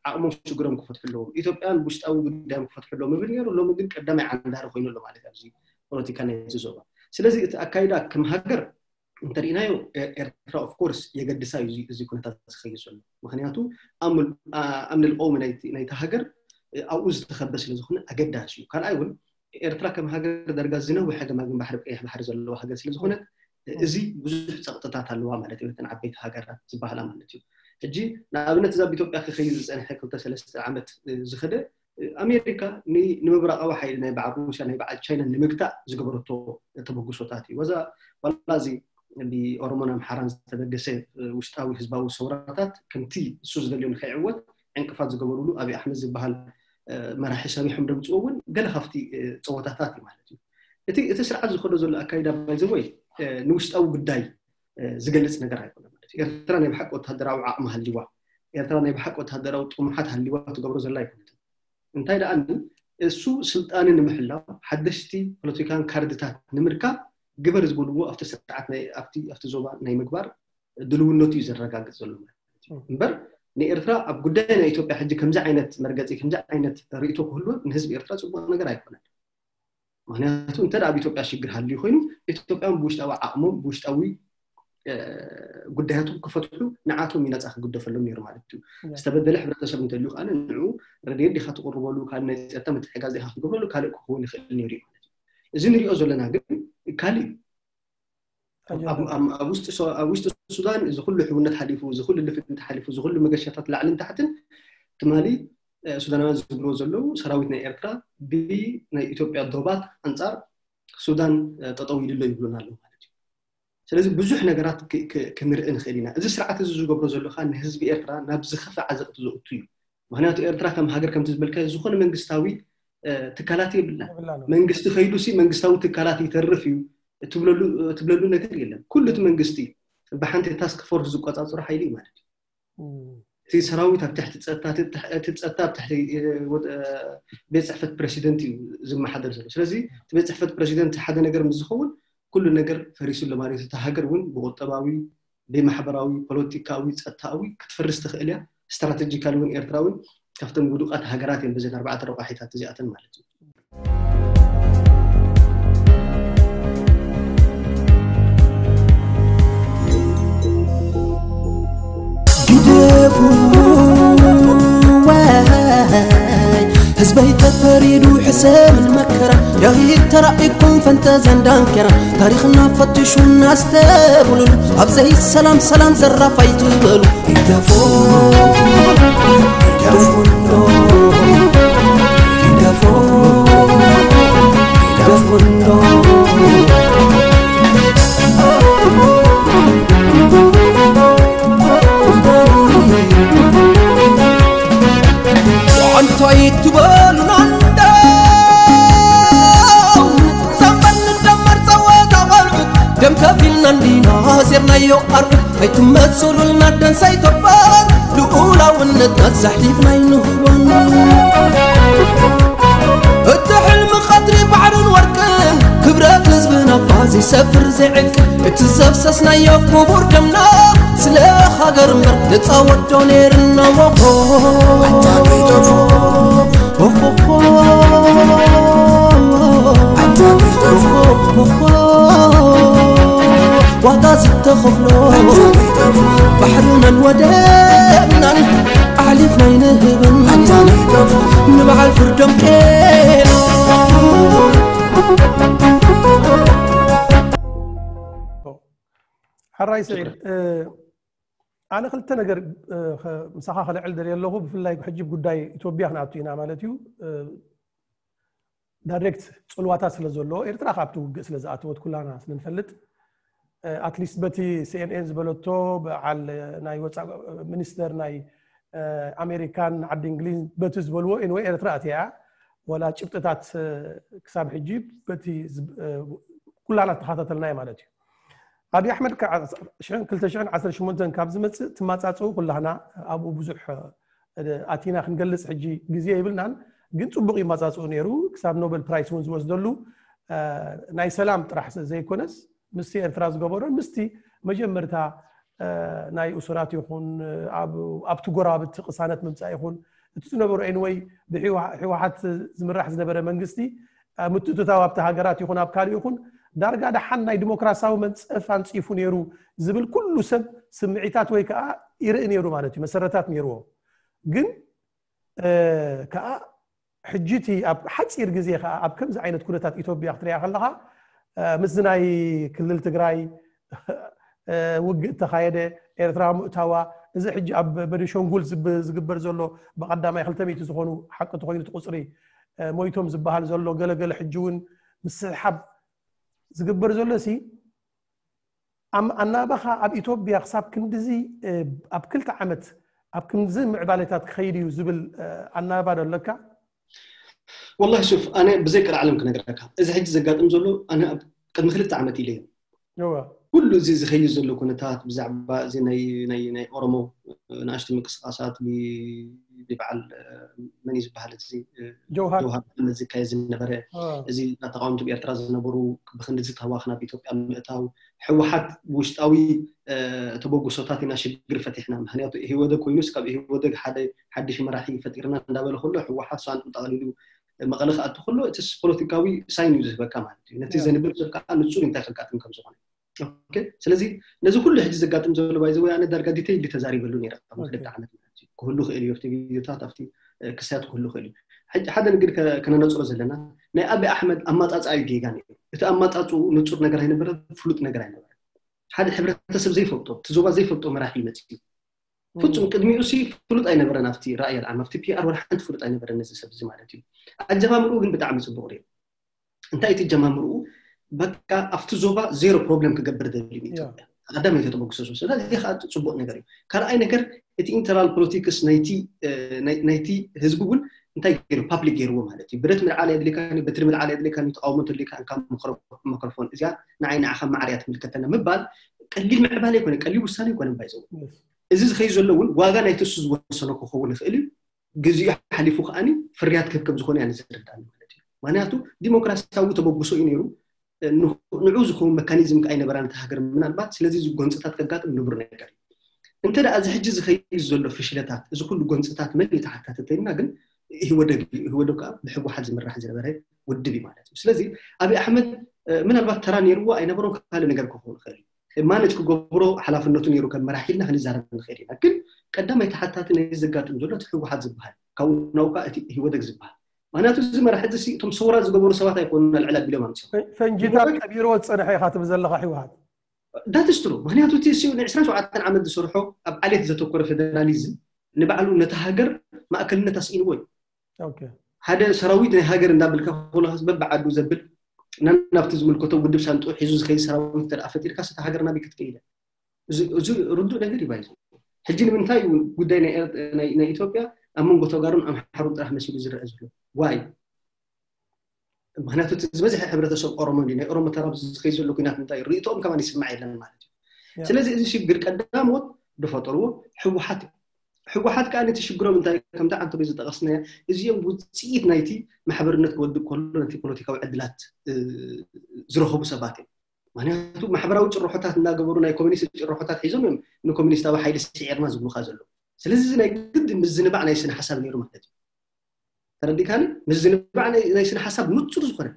ዓቕሞም ሽግሮም ክፈትሑ ኣለዎም፣ ኢትዮጵያን ብውሽጣዊ ጉዳዮም ክፈትሑ ኣለዎም ይብል ነይሩ። ሎሚ ግን ቀዳማይ ዓንዳሪ ኮይኑ ኣሎ ማለት ኣብዚ ፖለቲካ ናይቲ ዞባ። ስለዚ እቲ ኣካይዳ ከም ሃገር እንተሪእናዮ ኤርትራ ኦፍኮርስ የገድሳ እዩ እዚ ኩነታት ዝኸይድ ዘሎ። ምክንያቱ ኣምኒ ልቀውሚ ናይቲ ሃገር ኣብኡ ዝተኸበ ስለዝኾነ ኣገዳሲ እዩ። ካልኣይ እውን ኤርትራ ከም ሃገር ዳርጋ ዝነውሐ ገማግም ባሕሪ ቀይሕ ባሕሪ ዘለዋ ሃገር ስለዝኾነት እዚ ብዙሕ ፀቕጥታት ኣለዋ ማለት እዩ። እተን ዓበይቲ ሃገራት ዝበሃላ ማለት እዩ። ሕጂ ንኣብነት እዛ ኣብ ኢትዮጵያ ክኸይድ ዝፀንሐ ክልተ ሰለስተ ዓመት ዝኸደ ኣሜሪካ ንምብራቃዊ ሓይሊ ናይ በዓል ሩስያ ናይ በዓል ቻይና ንምግታእ ዝገበረቶ ተበግሶታት እዩ። ወዛ ዋላ እዚ ብኦሮሞን ኣምሓራን ዝተበገሰ ውሽጣዊ ህዝባዊ ሰውራታት ከምቲ እሱ ዝደልዮ ንከይዕወት ዕንቅፋት ዝገበሩሉ ኣብይ ኣሕመድ ዝበሃል መራሒ ሰቢሖም ደምፅዎ እውን ገለ ካብቲ ፀወታታት እዩ ማለት እዩ። እቲ እቲ ስርዓት ዝኸዶ ዘሎ ኣካይዳ ባይዘወይ ንውሽጣዊ ጉዳይ ዝገልፅ ነገር ኣይኮነ ማለት ኤርትራ ናይ ብሓቂ ወታደራዊ ዓቕሚ ሃልይዋ፣ ኤርትራ ናይ ብሓቂ ወታደራዊ ጥሙሓት ሃልይዋ ትገብሮ ዘላ ኣይኮነትን። እንታይ ደኣ እሱ ስልጣን ንምሕላው ሓደሽቲ ፖለቲካን ካርድታት ንምርካብ ግበር ዝበልዎ ኣብቲ ስርዓት ናይ ኣብቲ ኣብቲ ዞባ ናይ ምግባር ድልውነቱ እዩ ዘረጋግጽ ዘሎ ማለት እዩ። እምበር ንኤርትራ ኣብ ጉዳይ ናይ ኢትዮጵያ ሕጂ ከምዚ ዓይነት መርገጺ ከምዚ ዓይነት ርእይቶ ክህልዎ ንህዝቢ ኤርትራ ጽቡቕ ነገር ኣይኮነን። ምክንያቱ እንተ ኣብ ኢትዮጵያ ሽግር ሃልዩ ኮይኑ ኢትዮጵያን ብውሽጣዊ ዓቕሞም ብውሽጣዊ ጉዳያቶም ክፈትሑ ንዓቶም እዩ ነፃ ክግደፈሎም ነይሩ ማለት እዩ። ዝተበደለ ሕብረተሰብ እንተልዩ ከዓ ንዑ ረድኤት ዲካ ትቕርበሉ ካልእ ናይ ፀጥታ ምትሕጋዝ ዲካ ክትገብረሉ ካልእ ክኸውን ይኽእል ነይሩ እዩ ማለት እዩ። እዚ ንሪኦ ዘለና ግን ካልእ እዩ። ኣብ ውሽጢ ሱዳን እዚ ኩሉ ሕውነት ሓሊፉ እዚ ኩሉ ልፍንቲ ሓሊፉ እዚ ኩሉ መገሻታት ላዕልን ታሕትን ትማሊ ሱዳናውያን ዝብልዎ ዘለዉ ሰራዊት ናይ ኤርትራ ብናይ ኢትዮጵያ ዶባት ኣንፃር ሱዳን ጠጠው ኢሉ ኣሎ ይብሉና ኣለዉ ማለት እዩ። ስለዚ ብዙሕ ነገራት ክንርኢ ንኽእል ኢና። እዚ ስርዓት እዚ ዝገብሮ ዘሎ ከዓ ንህዝቢ ኤርትራ ናብ ዝኸፈ ዓዘቕቲ ዘእቱ እዩ። ምክንያቱ ኤርትራ ከም ሃገር ከምቲ ዝበልካዮ ዝኾነ መንግስታዊ ትካላት የብላን። መንግስቲ ከይዱ ሲ መንግስታዊ ትካላት ይተርፍ እዩ ትብለሉ ነገር የለን። ኩሉ እቲ መንግስቲ ብሓንቲ ታስክ ፎርስ ዝቆፃፅሮ ሓይሊ እዩ ማለት እዩ። እቲ ሰራዊት ኣብ ትሕቲ ፀጥታ እቲ ፀጥታ ኣብ ትሕቲ ቤት ፅሕፈት ፕረሲደንት እዩ ዝመሓደር ዘሎ። ስለዚ እቲ ቤት ፅሕፈት ፕረሲደንት ሓደ ነገር ምስ ዝኸውን ኩሉ ነገር ፈሪሱ ኣሎ ማለት እዩ። እታ ሃገር እውን ብቁጠባዊ ብማሕበራዊ ፖለቲካዊ ፀጥታዊ ክትፈርስ ትኽእል እያ። ስትራተጂካሊ እውን ኤርትራ እውን ካብተን ውዱቃት ሃገራት እየን በዘን ኣርባዕተ ረቋሒታት እዚኣተን ማለት እዩ። ግደፉ ወይ ህዝበይ ተፈሪዱ ሕሰምን መከራ ዳዊት ተራኢኩም ፈንጠዘን ዳንከራ ታሪኽና ፈትሹና ኣስተብሉሉ ኣብ ዘይሰላም ሰላም ዘራፍ ኣይትበሉ ግደፉ ግደፉ እንዶ ግደፉ ግደፉ እንዶ እንታይ ትበሉና እንዶ ዘንበል ንደመር ጸወታ ቆልዑት ደም ከፊልና እንዲና ዜርናዮ ኣርዑት ኣይትመሱሉልና ደንሳይ ተፋን ልኡላውነትና ዘሕሊፍና ኣይንህቦን እቲ ሕልሚ ቀትሪ ባሕርን ወርቅን ክብረት ህዝብና እባ ዘይሰፍር ዘይዕቅል እቲ ዘፍሰስናዮ ክቡር ደምና ስለ ሃገር እምበር ንጻወቶ ነይርና ወኾ ዋጋ ዝተኸፍሎ ባሕርናን ወደብናን ኣሕሊፍና ኣይንህብን ንበዓል ፍርዶም ቄና ሓራይ ስዒድ ኣነ ክልተ ነገር ምሳኻ ከልዕል ደልየ ኣለኹ። ብፍላይ ሕጂ ጉዳይ ኢትዮጵያ ክንኣቱ ኢና ማለት እዩ። ዳይሬክት ፅልዋታት ስለ ዘሎ ኤርትራ ካብቲ ውግእ ስለ ዝኣተወት ኩላና ስለ ንፈልጥ ኣትሊስት በቲ ሲኤንኤን ዝበለቶ በዓል ናይ ወፃእ ሚኒስተር ናይ ኣሜሪካን ዓዲ እንግሊዝ በቲ ዝበልዎ ኤንወይ ኤርትራ ኣትያ ወላ ጭብጥታት ክሳብ ሕጂ በቲ ኩላና ተኸታተልናዮ ማለት እዩ። ኣብይ ኣሕመድ ከዓ ክልተ ሽሕን ዓሰርተ ሸሞንተን ካብ ዝመፅእ ትማፃፅኡ ኩላህና ኣብኡ ብዙሕ ኣቲና ክንገልፅ ሕጂ ግዜ የብልናን፣ ግን ፅቡቕ ይማፃፅኡ ነይሩ። ክሳብ ኖበል ፕራይስ እውን ዝወስደሉ ናይ ሰላም ጥራሕ ዘይኮነስ ምስቲ ኤርትራ ዝገበሮን ምስቲ መጀመርታ ናይ እሱራት ይኹን ኣብቲ ጎረባብቲ ቅሳነት ምምፃእ ይኹን እቲ ዝነበሮ ኤንወይ ብህወሓት ዝምራሕ ዝነበረ መንግስቲ ምትእትታው ኣብቲ ሃገራት ይኹን ኣብ ካልእ ይኹን ዳርጋ ደሓን ናይ ዲሞክራሲያዊ መንፀፍ ኣንፂፉ ነይሩ ዝብል ኩሉ ሰብ ስምዒታት ወይ ከዓ ይርኢ ነይሩ ማለት እዩ። መሰረታት ነይርዎ። ግን ከዓ ሕጂ እቲ ኣብ ሓፂር ግዜ ከዓ ኣብ ከምዚ ዓይነት ኩነታት ኢትዮጵያ ክትሪኣ ከለካ ምስዚ ናይ ክልል ትግራይ ውግእ ተኻየደ፣ ኤርትራ ምእታዋ፣ እዚ ሕጂ ኣብ በኒሾንጉል ዝግበር ዘሎ ብቐዳማይ ክልተ ሚእቲ ዝኾኑ ሓቂ ተኾይኑ እቲ ቁፅሪ ሞይቶም ዝበሃል ዘሎ ገለገለ ሕጂ እውን ምስሕሓብ ዝግበር ዘሎ ሲ ኣናባኻ ኣብ ኢትዮጵያ ክሳብ ክንድዚ ኣብ ክልተ ዓመት ኣብ ክንድዚ ምዕባለታት ክኸይድ እዩ ዝብል ኣናባ ዶ ኣለካ? ወላሂ ሹፍ ኣነ ብዘይ ቀልዓለም ክነግረካ እዚ ሕጂ ዘጋጥም ዘሎ ኣነ ኣብ ቅድሚ ክልተ ዓመት ኢለዮ። ኩሉ እዚ ዝኸይድ ዘሎ ኩነታት ብዛዕባ እዚ ናይ ናይ ናይ ኦሮሞ ንኣሽቱ ምንቅስቃሳት ብ- ብበዓል መን እዩ ዝበሃል እዚ ጀውሃር ጀውሃር መሓመድ ዝካየድ ዝነበረ አ፣ እዚ ተቃወምቲ ኤርትራ ዝነበሩ ብክንዲ ዝተዋኽ ናብ ኢትዮጵያ ምእታው ህወሓት ውሽጣዊ ተበግሶታት ኢና ሽግር ፈቲሕና። ምክንያቱ ኢህወደግ ኮይኑስ ካብ ኢህወደግ ሓደ ሓድሽ መራሒ ፈጢርና እንዳበለ ከሎ ህወሓት ሳንጡ ጠቕሊሉ መቐለ ክኣቱ ከሎ እቲ ፖለቲካዊ ሳይን እዩ ዝህበካ ማለት እዩ። ነቲ ያ። ዘንብብ ሰብ ከዓ ንጹር እንታይ ከጋጥም ከም ዝኾነ። ኦኬ፣ ስለዚ ነዚ ኩሉ ሕጂ ዘጋጥም ዘሎ ባይዘ ወይ ኣነ ዳርጋ ዲቴይል ተዛሪበሉ ነይረ ካብ ኦኬ። ክልተ ዓመት ማለት እዩ። ክህሉ ክእል እዩ ኣብቲ ቪዲዮታት ኣብቲ እ፣ ክስያት ክህሉ ክእል እዩ። ሕጂ ሓደ ንግድ ከ- ከነነጽሮ ዘለና ናይ ኣቢ ኣሕመድ ኣማጻጽኣ እዩ ጌጋ ነይሩ። እቲ ኣማጻጽኡ ንጹር ነገር ኣይነበረ፣ ፍሉጥ ነገር ኣይነበረ። ሓደ ሕብረተሰብ ዘይፈልጦ እቲ ዞባ ዘይፈልጦ መራሒ ይመጽእ እዩ። ፍጹም ቅድሚኡ ሲ ፍሉጥ ኣይነበረን ኣብቲ ራእይ ኣልዓም ኣብቲ ፒኣር ወላ ሓንቲ ፍሉጥ ኣይነበረን ነዚ ሰብ እዚ ማለት እዩ። ኣጀማምርኡ ግን ብጣዕሚ ጽቡቕ ነይሩ። እንታይ እቲ ጀማምርኡ በቃ ኣብቲ ዞባ ዜሮ ፕሮብለም ክገብር ደሊ ያ። ኢትዮጵያ ቀዳማይ ተተበግሰሱ ስለዚ እዚ ከዓ ጽቡቕ ነገር እዩ። ካልኣይ ነገር እቲ ኢንተርናል ፖለቲክስ ናይቲ እ፣ ናይ- ናይቲ ህዝቢ እውን እንታይ ገይሩ ፓብሊክ ገይርዎ ማለት እዩ። ብረት ምልዓል የድልካ በትሪ ምልዓል የድልካ ተቃውሞ ተድልካ እንካ መክሮፎን እዚኣ ንዓይ ንዓኻ ማዕርያ ትምልከተና ምባል ቀሊል ምዕባለ ይኮነ ቀሊል ውሳኔ ይኮነ ባይዘው እዚ ዝኸይ ዘሎ እውን ዋጋ ናይቲ እሱ ዝወሰኖ ክኸውን ይኽእል እዩ። ግዜኡ ሓሊፉ ከዓኒ ፍርያት ክህብ ከም ዝኾነ እያ ዝርዳኒ ማለት እዩ። ምክንያቱ ዲሞክራሲያዊ ተበግሶ እዩ ነይሩ። ንዑ ዝኸውን መካኒዝም ከዓ ኣይነበራን እቲ ሃገር ምናልባት ስለዚ እዚ ጎንፅታት ከጋጥም ንቡር ነገር እዩ። እንተ ደኣ እዚ ሕጂ ዝኸይድ ዘሎ ፍሽለታት እዚ ኩሉ ጎንፅታት መን እዩ ተሓታቲ ተይልና ግን ኢህወደግ እዩ። ኢህወደግ ከዓ ብህወሓት ዝምራሕ ዝነበረ ውድብ እዩ ማለት እዩ። ስለዚ ኣብይ ኣሕመድ ምናልባት ተራ ነይርዎ ኣይነበሮን ካልእ ነገር ክኸውን ይኽእል እዩ። ማነጅ ክገብሮ ሓላፍነቱ ነይሩ ከም መራሒ ኢልና ክንዛረብ ንኽእል ኢና። ግን ቀዳማይ ተሓታቲ ናይ ዘጋጥም ዘሎ እቲ ህወሓት ዝበሃል ካብኡ ናውካ እቲ ህወደግ ዝበሃል ምክንያቱ እዚ መራሒ እዚ እቶም ሰውራ ዝገበሩ ሰባት ኣይኮኑን ኣልዕል ኣቢሎም ኣምፅኦም ፈንጂታት ቀቢርዎ ዝፀንሐ ኢኻ ትብል ዘለኻ ህወሓት ዳትስትሩ ምክንያቱ እቲ ሲ ን ዕስራን ሸውዓተን ዓመት ዝሰርሖ ኣብ ዓሌት ዘተኮረ ፌደራሊዝም ንባዕሉ ነቲ ሃገር ማእከልነት ኣስኢንዎ እዩ። ሓደ ሰራዊት ናይ ሃገር እንዳበልካ ኮለካስ በብዓዱ ዘብል ናናብቲ ዝምልከቶ ውድብ ሳንጡ ሒዙ ዝኸይድ ሰራዊት እንተ ፈጢርካ ስታ ሃገር ናበይ ክትከይደ እዚ ርዱእ ነገር ይባይ ሕጂ ንምንታይ ጉዳይ ናይ ኢትዮጵያ ኣብ መንጎ ተጋሩን ኣምሓሩን ጥራሕ መሲሉ ዝረአ ዘሎ ዋይ ምክንያቱ ዝበዝሐ ሕብረተሰብ ኦሮሞ ናይ ኦሮሞ ተራብ ዝኸይ ዘሎ ኩናት እንታይ ርእቶኦም ከማን ይስማዕ የለን ማለት እዩ። ስለዚ እዚ ሽግር ቀዳሞት ዝፈጠርዎ ህወሓት እዩ። ህወሓት ከዓ ነቲ ሽግሮም እንታይ ከምቲ ዓንተቦይ ዝጠቐስናያ እዚኦም ውፅኢት ናይቲ ማሕበርነት ክወድእ ከሎ ነቲ ፖለቲካዊ ዕድላት ዝረኸቡ ሰባት እዮም። ምክንያቱ ማሕበራዊ ጭርሖታት እናገበሩ ናይ ኮሚኒስት ጭርሖታት ሒዞም እዮም ንኮሚኒስታዊ ሓይሊ ስዒርና ዝብሉካ ዘለዉ። ስለዚ እዚ ናይ ግድ ምዝንባዕ ናይ ስነ ሓሳብ ነይሩ ማለት እዩ። ተረዲካኒ? ምዝንባዕ ናይ ስነ ሓሳብ ንፁር ዝኾነ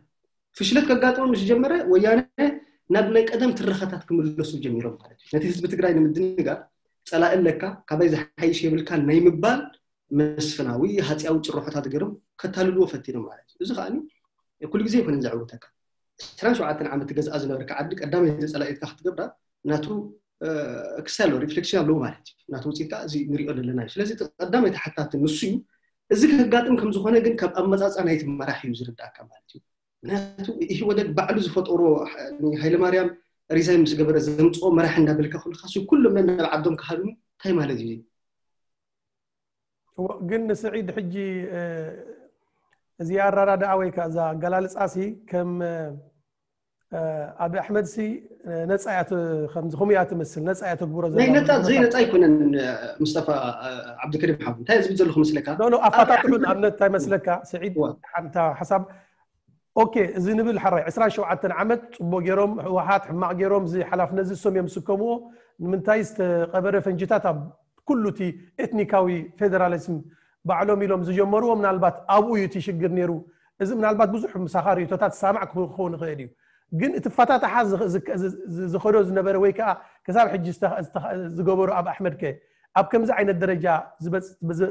ፍሽለት ከጋጥሞ ምስ ጀመረ ወያነ ናብ ናይ ቀደም ትረኸታት ክምለሱ ጀሚሮም ማለት እዩ። ነቲ ህዝቢ ትግራይ ንምድንጋር ፀላኢ ኣለካ ካባይ ዝሓይሽ የብልካ ናይ ምባል መስፍናዊ ሃፅያዊ ጭርሖታት ገይሮም ከታልልዎ ፈቲኖም ማለት እዩ። እዚ ከዓ ኩሉ ግዜ ይኮነ ዘዕውተካ ዕስራን ሸውዓተን ዓመት ገዝኣ ዝነበርካ ዓዲ ቀዳመይቲ ፀላኢትካ ክትገብራ ናቱ ክሳሎ ሪፍሌክሽን ኣለዎ ማለት እዩ። ናቱ ውፅኢት ከዓ እዚ ንሪኦ ዘለና እዩ። ስለዚ ቀዳማይ ተሓታቲ ንሱ እዩ። እዚ ከጋጥም ከም ዝኾነ ግን ካብ ኣመፃፃ ናይቲ መራሒ እዩ ዝርዳእካ ማለት እዩ። ምክንያቱ ኢህወደግ ባዕሉ ዝፈጠሮ ሃይለማርያም ሪዛይ ምስ ገበረ ዘምፅኦ መራሒ እንዳበልካ ኩልካ ኩሎም ነናብ ዓዶም ክሃድሙ እንታይ ማለት እዩ? ግን ንስዒድ ሕጂ እዚ ኣራዳድኣ ወይ ከዓ እዛ ኣገላልፃ ሲ ከም ኣብ ኣሕመድ ሲ ነፃ እያ ከምዚ ከምኡ እያ ትመስል ነፃ እያ ተግብሮ ናይ ነፃ ዘይ ነፃ ኣይኮነን። ምስጠፋ ዓብድከሪም ሓው እንታይ ዝብል ዘለኹ መስለካ ኣፋታትሑ ንኣብነት እንታይ መስለካ ስዒድ ሓንታ ሓሳብ ኦኬ እዚ ንብል ሓራይ ዕስራን ሸውዓተን ዓመት ፅቡቅ ገይሮም ህወሓት ሕማቅ ገይሮም እዚ ሓላፍነት እዚ እሶም እዮም ዝስከምዎ ንምንታይ ዝተቀበረ ፈንጅታት ኣብ ኩሉ እቲ ኤትኒካዊ ፌደራሊዝም ባዕሎም ኢሎም ዝጀመርዎ ምናልባት ኣብኡ እዩ እቲ ሽግር ነይሩ። እዚ ምናልባት ብዙሕ ምሳኻ ርእቶታት ዝሳማዕ ክኸውን ይኽእል እዩ። ግን እቲ ፈታታሓ ዝኸዶ ዝነበረ ወይ ከዓ ክሳብ ሕጂ ዝገበሩ ኣብ ኣሕመድ ከ ኣብ ከምዚ ዓይነት ደረጃ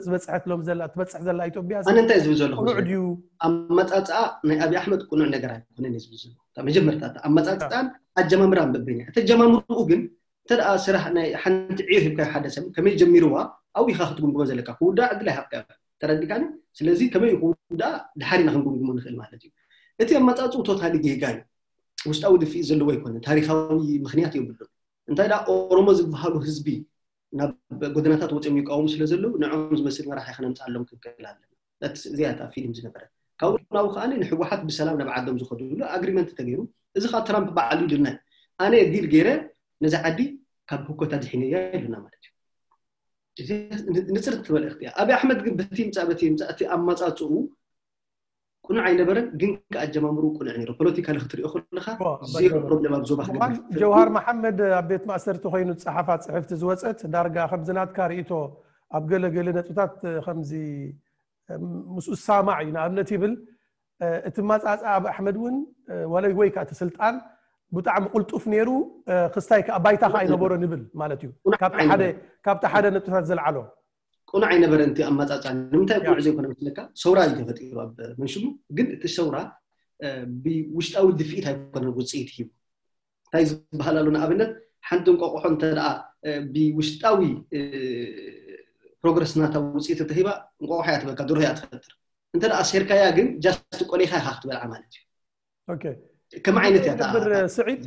ዝበፅሐት ሎም ዘላ ትበፅሕ ዘላ ኢትዮጵያ ኣነ እንታይ ዝብል ዘለኹ ድዩ? ኣመፃፅኣ ናይ ኣብይ ኣሕመድ ቁኑዕ ነገር ኣይኮነን ዝብል ዘሎ መጀመርታ ኣመፃፅኣን ኣጀማምራን በበይና ተጀማምርኡ ግን እንተ ስራሕ ናይ ሓንቲ ዕዮ ሂብካ ሓደ ሰብ ከመይ ጀሚርዋ ኣብኡ ኢኻ ክትጉምጉሞ ዘለካ ክውዳእ ዕድል ኣይሃብካ ተረዲካኒ። ስለዚ ከመይ ክውዳእ ድሓር ኢና ክንጉምጉሞ ንኽእል ማለት እዩ። እቲ ኣመፃፅኡ ቶታሊ ጌጋ እዩ። ውሽጣዊ ድፍኢት ዘለዎ ኣይኮነን። ታሪካዊ ምክንያት የብሉን። እንታይ ደኣ ኦሮሞ ዝበሃሉ ህዝቢ ናብ ጎደናታት ወፂኦም ይቃወሙ ስለ ዘለዉ ንዕኦም ዝመስል መራሒ ክነምፅኣሎም ክንክእል ኣለና። እዚኣ እታ ፊልም ዝነበረ ካብኡ ናብኡ ከዓ ንህወሓት ብሰላም ናብ ዓዶም ዝኸድሉ ኣግሪመንት ተገይሩ። እዚ ከዓ ትራምፕ በዓሉ ይድነ ኣነ ዲል ገይረ ነዚ ዓዲ ካብ ህኮታ ድሒነያ ኢሉና ማለት እዩ። እዚ ንፅርት ትበል እያ። ኣብይ ኣሕመድ ግን በቲ ምፃእ በቲ ምፃእ እቲ ኣመፃፅኡ ቁኑዕ ኣይነበረን፣ ግን ከኣጀማምሩ ቁኑዕ ነይሩ። ፖለቲካ ክትሪኦ ከለካ ዜሮ ፕሮብሌም ኣብ ዞባ ክገብር። ጀውሃር መሓመድ ኣብ ቤት ማእሰርቲ ኮይኑ ዝፀሓፋ ፅሕፍቲ ዝወፀት ዳርጋ ከምዚ ናትካ ርእቶ ኣብ ገለ ገለ ነጥብታት ከምዚ ምስኡ ዝሳማዕ እዩ። ንኣብነት ይብል እቲ ማፃፃ ኣብ ኣሕመድ እውን ዋላ ወይ ከዓ እቲ ስልጣን ብጣዕሚ ቁልጡፍ ነይሩ፣ ክስታይ ከዓ ባይታ ከዓ ኣይነበሮን ይብል ማለት እዩ። ካብቲ ሓደ ነጥብታት ዘልዓሎ ቁኑዕ ኣይነበረን እቲ ኣመፃፅኣ። ንምንታይ ቁኑዕ ዘይኮነ መስለካ? ሰውራ እዩ ተፈጢሩ ኣብ መንሽሙ፣ ግን እቲ ሰውራ ብውሽጣዊ ድፍኢት ኣይኮነን ውፅኢት ሂቡ። እንታይ ዝበሃል ኣሎ? ንኣብነት ሓንቲ እንቋቑሖ እንተ ደኣ ብውሽጣዊ ፕሮግረስ ናታ ውፅኢት እንተሂባ እንቋቑሖ እያ ትበካ፣ ድሮ እያ ትፈጥር። እንተ ደኣ ሴርካያ ግን ጃስት ቆሊኻ ኢኻ ክትበልዓ ማለት እዩ። ከም ዓይነት እያ ብር ስዒድ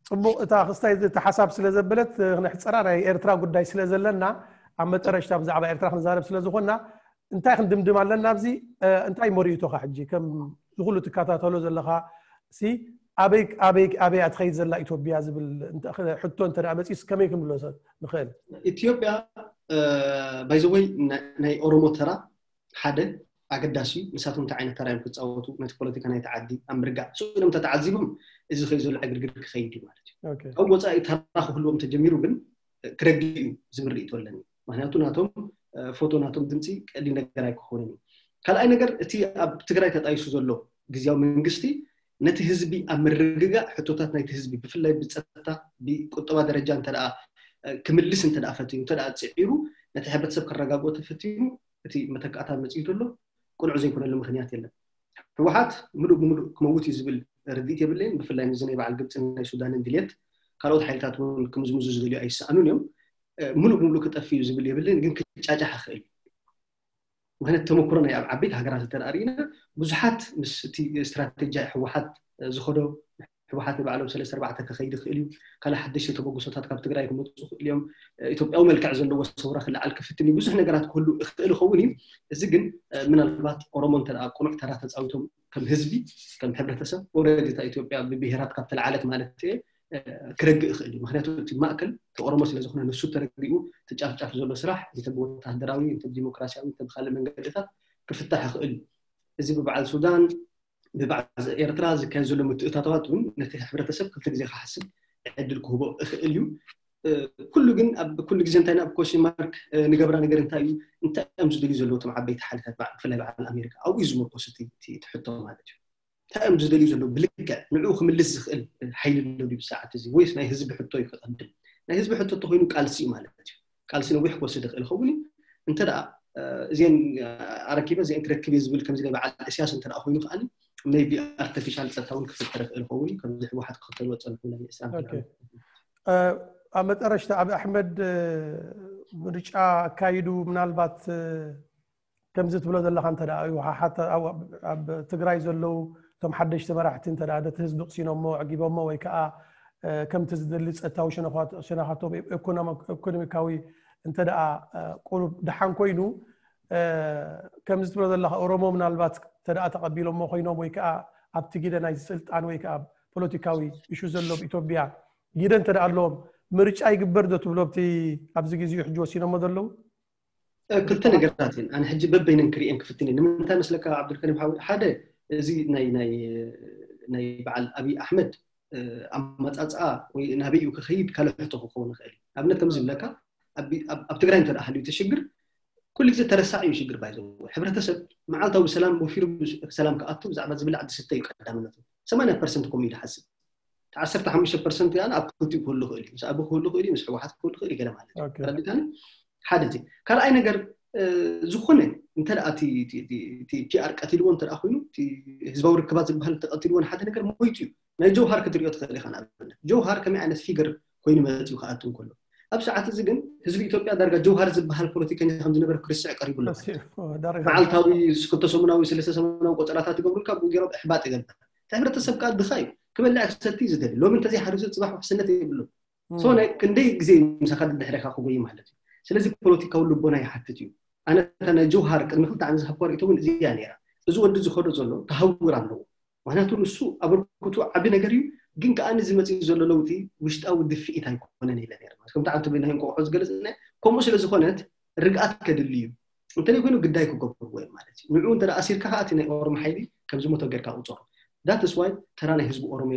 ፅቡቕ እታ ክስታይ እቲ ሓሳብ ስለ ዘበለት ክነሕፀራ ናይ ኤርትራ ጉዳይ ስለ ዘለና ኣብ መጠረሽታ ብዛዕባ ኤርትራ ክንዛረብ ስለ ዝኾንና እንታይ ክንድምድም ኣለና ኣብዚ እንታይ መሪእቶኻ ሕጂ ከም ዝኩሉ ትከታተሎ ዘለኻ ሲ ኣበይ ኣበይ ኣበይ ትኸይድ ዘላ ኢትዮጵያ ዝብል ሕቶ እንተ መፂስ ከመይ ክንብሎ ንኽእል? ኢትዮጵያ ባይዘወይ ናይ ኦሮሞ ተራ ሓደ ኣገዳሲ እዩ። ንሳቶም እንታይ ዓይነት ተራ እዮም ክፃወቱ ነቲ ፖለቲካ ናይቲ ዓዲ ኣብ ምርጋእ ስኢኖም ተተዓዚቦም እዚ ከይ ዘሎ ዕግርግር ክኸይድ እዩ ማለት እዩ። ካብ ወፃኢ ተራ ክህልዎም ተጀሚሩ ግን ክረግእ እዩ ዝብል ርእይቶ ኣለኒ። ምክንያቱ ናቶም ፎቶ ናቶም ድምፂ ቀሊል ነገር ኣይክኾንን እዩ። ካልኣይ ነገር እቲ ኣብ ትግራይ ተጣይሱ ዘሎ ግዝያዊ መንግስቲ ነቲ ህዝቢ ኣብ ምርግጋእ ሕቶታት ናይቲ ህዝቢ ብፍላይ ብፀጥታ ብቁጠባ ደረጃ እንተ ክምልስ እንተ ፈትዩ እንተ ፅዒሩ ነቲ ሕብረተሰብ ከረጋግኦ ተፈቲኑ እቲ መተካእታ መፅኡ ዘሎ ቅኑዕ ዘይኮነሉ ምክንያት የለን። ህወሓት ምሉእ ብምሉእ ክመውት እዩ ዝብል ርድኢት የብለይን። ብፍላይ ንዚ ናይ በዓል ግብፂ ናይ ሱዳንን ድልየት ካልኦት ሓይልታት እውን ክምዝምዙ ዝደልዩ ኣይሰኣኑን እዮም። ምሉእ ብምሉእ ክጠፍ እዩ ዝብል የብለይን፣ ግን ክጫጫሕ ይኽእል እዩ። ምክንያት ተመክሮ ናይ ኣብ ዓበይቲ ሃገራት እንተ ርኢና ብዙሓት ምስ እቲ ስትራቴጂ ህወሓት ዝኸዶ ህወሓት ንባዕሎም ሰለስተ ኣርባዕተ ክኸይድ ይኽእል እዩ። ካልእ ሓደሽቲ ተበግሶታት ካብ ትግራይ ክመፁ ይኽእል እዮም። ኢትዮጵያዊ መልክዕ ዘለዎ ሰውራ ክለዓል ክፍትን እዩ። ብዙሕ ነገራት ክህሉ ይኽእል ይኸውን እዩ። እዚ ግን ምናልባት ኦሮሞ እንተ ቁኑዕ ተራ ተፃዊቶም ከም ህዝቢ ከም ሕብረተሰብ ወረድ እታ ኢትዮጵያ ብብሄራት ካብ ተለዓለት ማለት እየ ክረግእ ይኽእል እዩ። ምክንያቱ እቲ ማእከል እቲ ኦሮሞ ስለ ዝኾነ ንሱ ተረጊኡ እቲ ጫፍጫፍ ዘሎ ስራሕ እንተ ብወታደራዊ እንተ ብዲሞክራሲያዊ እንተ ብካልእ መንገድታት ክፍታሕ ይኽእል እዩ። እዚ ብበዓል ሱዳን ብበዓል ኤርትራ ዝካየድ ዘሎ ምትእታተዋት እውን ነቲ ሕብረተሰብ ክልተ ግዜ ክሓስብ ዕድል ክህቦ ይኽእል እዩ። ኩሉ ግን ኣብ ኩሉ ግዜ እንታይ ናብ ኮሽን ማርክ ንገብራ ነገር እንታይ እዩ? እንታይ እዮም ዝደልዩ ዘለዉ እቶም ዓበይቲ ሓይልታት ብፍላይ በዓል ኣሜሪካ ኣብኡ እዩ ዝምርኮስ እቲ ሕቶ ማለት እዩ። እንታይ እዮም ዝደልዩ ዘለዉ? ብልክዕ ንዕኡ ክምልስ ዝኽእል ሓይሊ ኣሎ ድዩ ብሰዓት እዚ ወይስ ናይ ህዝቢ ሕቶ እዩ ክቐድም? ናይ ህዝቢ ሕቶ እንተኮይኑ ቃልሲ እዩ ማለት እዩ። ቃልሲ ነዊሕ ክወስድ ይኽእል ይኸውን እዩ። እንተ ደኣ እዚአን ኣረኪበ እዚአን ክረክብ እየ ዝብል ከምዚ ናይ በዓል እስያስ እንተ ኮይኑ ከዓኒ maybe ኣርቲፊሻል ፀጥታ እውን ክፍጠር ይኽእል ይኸውን እዩ። ከምዚ ህወሓት ክኽተልዎ ዝፀንሑ ናይ እስላም ኣብ መጠረሽታ ኣብ ኣሕመድ ምርጫ ኣካይዱ ምናልባት ከምዚ ትብሎ ዘለኻ እንተ ደኣ ህወሓት ኣብ ትግራይ ዘለዉ እቶም ሓደሽቲ መራሕቲ እንተ ነቲ ህዝቢ ቅሲኖሞ ዕጊቦሞ ወይ ከዓ ከምቲ ዝደሊ ፀጥታዊ ሸነኻቶም ኢኮኖሚካዊ እንተ ደኣ ቁሩብ ደሓን ኮይኑ ከምዚ ትብሎ ዘለኻ ኦሮሞ ምናልባት እንተ ደኣ ተቐቢሎሞ ኮይኖም ወይ ከዓ ኣብቲ ግደ ናይ ስልጣን ወይ ከዓ ፖለቲካዊ እሹ ዘሎ ኣብ ኢትዮጵያ ግደ እንተ ደኣ ኣለዎም ምርጫ ይግበር ዶ ትብሎ ኣብቲ ኣብዚ ግዜኡ ሕጂ ወሲኖሞ ዘለዉ? ክልተ ነገራት እየን ኣነ ሕጂ በበይነን ክርእየን ክፍትን እየ። ንምንታይ መስለካ ዓብዱልከሪም ሓወይ? ሓደ እዚ ናይ ናይ ናይ በዓል ኣብይ ኣሕመድ ኣመፃፅኣ ወይ ናበይኡ ክኸይድ ካልእ ሕቶ ክኸውን ይኽእል እዩ። ኣብነት ከም ዝብለካ ኣብ ትግራይ እንተ ሃልዩ እቲ ሽግር ኩሉ ግዜ ተረሳዒ እዩ ሽግር ባይዘ ሕብረተሰብ መዓልታዊ ብሰላም ወፊሩ ሰላም ክኣቱ ብዛዕባ ዝብላዕ ዝስተ እዩ ቀዳምነቱ። ሰማንያ ፐርሰንት ከምኡ እዩ ዝሓስብ። ዓሰርተ ሓሙሽተ ፐርሰንት ያን ኣብ ክልቲኡ ክህሉ ይኽእል እዩ። ምስ ኣቢ ክህሉ ይኽእል እዩ፣ ምስ ህወሓት ክህሉ ይኽእል እዩ ገለ ማለት እዩ። ተረዲእካኒ? ሓደ እዚ ካልኣይ ነገር ዝኾነ እንተ እቲ ፒኣር ቀቲልዎ እንተ ኮይኑ ህዝባዊ ርክባት ዝበሃል ተቀቲልዎ ሓደ ነገር ሞይቱ እዩ። ናይ ጀውሃር ክትሪኦ ትኽእል ኢኻ። ንኣብነት ጀውሃር ከመይ ዓይነት ፊገር ኮይኑ መፂኡ ክኣቱ እንከሎ ኣብ ሰዓት እዚ ግን ህዝቢ ኢትዮጵያ ዳርጋ ጀውሃር ዝበሃል ፖለቲከኛ ከም ዝነበረ ክርስዕ ቀሪቡ ኣሎ። መዓልታዊ ክልተ ሰሙናዊ ሰለስተ ሰሙናዊ ቆፀራታት ይገብሩልካ ብኡ ገይሮም እሕባጥ ይገብር። እቲ ሕብረተሰብ ከዓ ድኻ እዩ። ክበልዕ ክሰቲ እዩ ዝደሊ። ሎሚ እንተዘይሓሪሱ ፅባሕ ውሕስነት የብሉን። ሶ ናይ ክንደይ ግዜ ምሳኻ ድሕሬኻ ክጎይ ማለት እዩ። ስለዚ ፖለቲካዊ ልቦና ይሓትት እዩ። ኣነ እታ ናይ ጀውሃር ቅድሚ ክልተ ዓመት ዝሃብኳ ርእይቶ እውን እዚኣ ነይራ። እዚ ወዲ ዝኸዶ ዘሎ ተሃውር ኣለዎ። ምክንያቱ ንሱ ኣበርክቱ ዓቢ ነገር እዩ። ግን ከዓ እዚ መፅኡ ዘሎ ለውጢ ውሽጣዊ ድፍኢት ኣይኮነን ኢለ ነይረ። ከምቲ ዓንተ በይናይ እንቆቕሖ ዝገለፅና፣ ከምኡ ስለ ዝኾነት ርግኣት ከድሊ እዩ። እንተደይ ኮይኑ ግዳይ ክገብርዎ እዮም ማለት እዩ። ንዕኡ እንተ ኣሲርካ ከዓ እቲ ናይ ኦሮሞ ሓይሊ ከም ዝሞተ ጌርካ ቁፀሮ። That's why ተራ ናይ ህዝቢ ኦሮሞ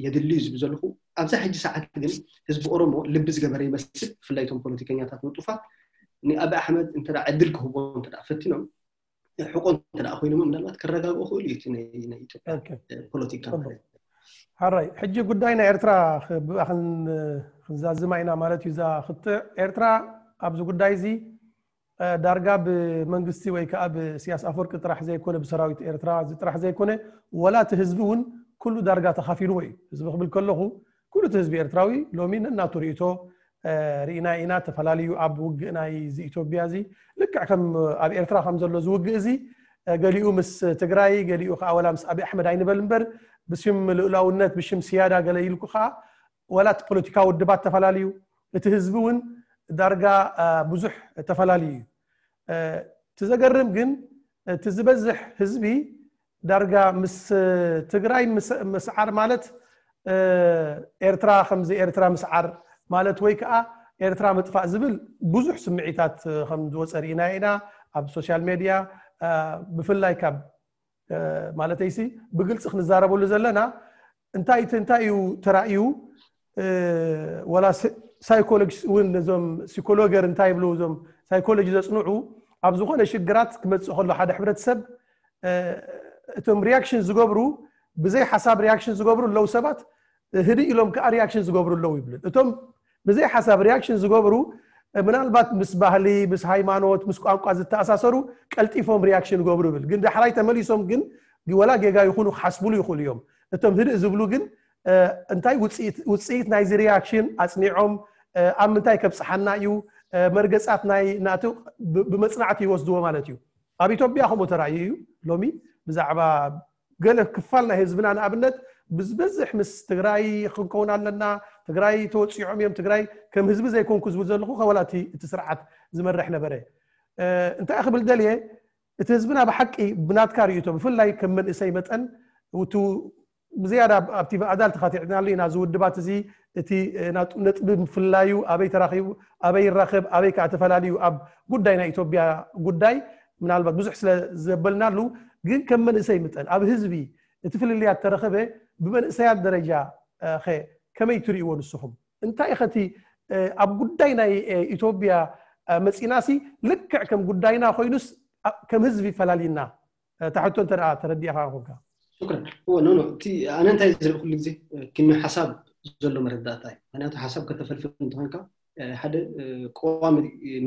የድሊ እዩ ዝብል ዘለኹ። ኣብዛ ሕጂ ሰዓት ግን ህዝቢ ኦሮሞ ልቢ ዝገበረ ይመስል፣ ብፍላይ እቶም ፖለቲከኛታት ንጡፋት ንኣቢ ኣሕመድ እንተ ዕድል ክህቦ እንተ ፈቲኖም ሕቆ እንተ ኮይኖም ምናልባት ክረጋግኦ ክእሉ እዩ ናይ ኢትዮጵያ ፖለቲካ ማለት። ሓራይ ሕጂ ጉዳይ ናይ ኤርትራ ብኣ ክንዛዝማ ኢና ማለት እዩ። እዛ ክትዕ ኤርትራ ኣብዚ ጉዳይ እዚ ዳርጋ ብመንግስቲ ወይ ከዓ ብኢሳያስ ኣፈወርቂ ጥራሕ ዘይኮነ ብሰራዊት ኤርትራ እዚ ጥራሕ ዘይኮነ ወላ እቲ ህዝቢ እውን ኩሉ ዳርጋ ተኻፊልዎ እዩ። ህዝቢ ክብል ከለኹ ኩሉ እቲ ህዝቢ ኤርትራዊ ሎሚ ነናቱ ርእይቶ ርኢና ኢና። ተፈላለዩ ኣብ ውግእ ናይ እዚ ኢትዮጵያ እዚ ልክዕ ከም ኣብ ኤርትራ ከም ዘሎ ዝውግእ እዚ ገሊኡ ምስ ትግራይ ገሊኡ ከዓ ወላ ምስ ኣብይ ኣሕመድ ኣይንበል እምበር ብሽም ልኡላውነት ብሽም ስያዳ ገለ ኢልኩ ከዓ ወላ እቲ ፖለቲካዊ ውድባት ተፈላለዩ እቲ ህዝቢ እውን ዳርጋ ብዙሕ ተፈላለዩ እዩ። እቲ ዘገርም ግን እቲ ዝበዝሕ ህዝቢ ዳርጋ ምስ ትግራይ ምስዓር ማለት ኤርትራ ከምዚ ኤርትራ ምስዓር ማለት ወይ ከዓ ኤርትራ ምጥፋእ ዝብል ብዙሕ ስምዒታት ከም ዝወፀ ርኢና ኢና ኣብ ሶሻል ሜድያ። ብፍላይ ካብ ማለተይሲ ብግልፂ ክንዛረበሉ ዘለና እንታይ እንታይ እዩ ተራእዩ? ወላ ሳይኮሎጂ እውን ነዞም ሲኮሎገር እንታይ ይብሉ እዞም ሳይኮሎጂ ዘፅንዑ ኣብ ዝኾነ ሽግራት ክመፅእ ከሎ ሓደ ሕብረተሰብ እቶም ሪያክሽን ዝገብሩ ብዘይ ሓሳብ ሪያክሽን ዝገብሩ ኣለዉ ሰባት፣ ህድእ ኢሎም ከዓ ሪያክሽን ዝገብሩ ኣለዉ ይብል። እቶም ብዘይ ሓሳብ ሪያክሽን ዝገብሩ ምናልባት ምስ ባህሊ ምስ ሃይማኖት ምስ ቋንቋ ዝተኣሳሰሩ ቀልጢፎም ሪያክሽን ይገብሩ ይብል። ግን ዳሕራይ ተመሊሶም ግን ወላ ጌጋ ይኹኑ ክሓስብሉ ይኽእሉ እዮም። እቶም ህድእ ዝብሉ ግን እንታይ ውፅኢት ናይዚ ሪያክሽን ኣፅኒዖም ኣብ ምንታይ ከብፅሓና እዩ መርገፃት ናይ ናቱ ብመፅናዕቲ ይወስድዎ ማለት እዩ። ኣብ ኢትዮጵያ ከምኡ ተራእዩ እዩ። ሎሚ ብዛዕባ ገለ ክፋል ናይ ህዝብና ንኣብነት ብዝበዝሕ ምስ ትግራይ ክንከውን ኣለና፣ ትግራይ ተወፂዖም እዮም፣ ትግራይ ከም ህዝቢ ዘይኮንኩ ዝብል ዘለኹ ከወላ እቲ ስርዓት ዝመርሕ ነበረ። እንታይ ክብል ደልየ እቲ ህዝብና ብሓቂ ብናትካ ርእይቶ ብፍላይ ከም መንእሰይ መጠን ብዝያዳ ኣብቲ ኣዳል ተኻቲዕናሉ ኢና። እዚ ውድባት እዚ እቲ ነጥቢ ምፍላዩ ኣበይ ተራኺቡ ኣበይ ይራኸብ ኣበይ ከዓ ተፈላለዩ ኣብ ጉዳይ ናይ ኢትዮጵያ ጉዳይ ምናልባት ብዙሕ ስለ ዘበልናሉ ግን ከም መንእሰይ ምጠን ኣብ ህዝቢ እቲ ፍልልያት ተረኸበ ብመንእሰያት ደረጃ ከ ከመይ ትርእይዎ ንስኹም? እንታይ ኸቲ ኣብ ጉዳይ ናይ ኢትዮጵያ መፂናሲ ልክዕ ከም ጉዳይና ኮይኑስ ከም ህዝቢ ፈላሊና? ታሕቶ እንተ ተረዲእኻ ኮንካ። ሽክረን። እወ ኖ ኖ እቲ ኣነ እንታይ ዝርኢ ኩሉ ግዜ ክንዮ ሓሳብ ዘሎ መረዳእታ እዩ። ምክንያቱ ሓሳብ ከተፈልፍል እንተኾንካ ሓደ ቀዋሚ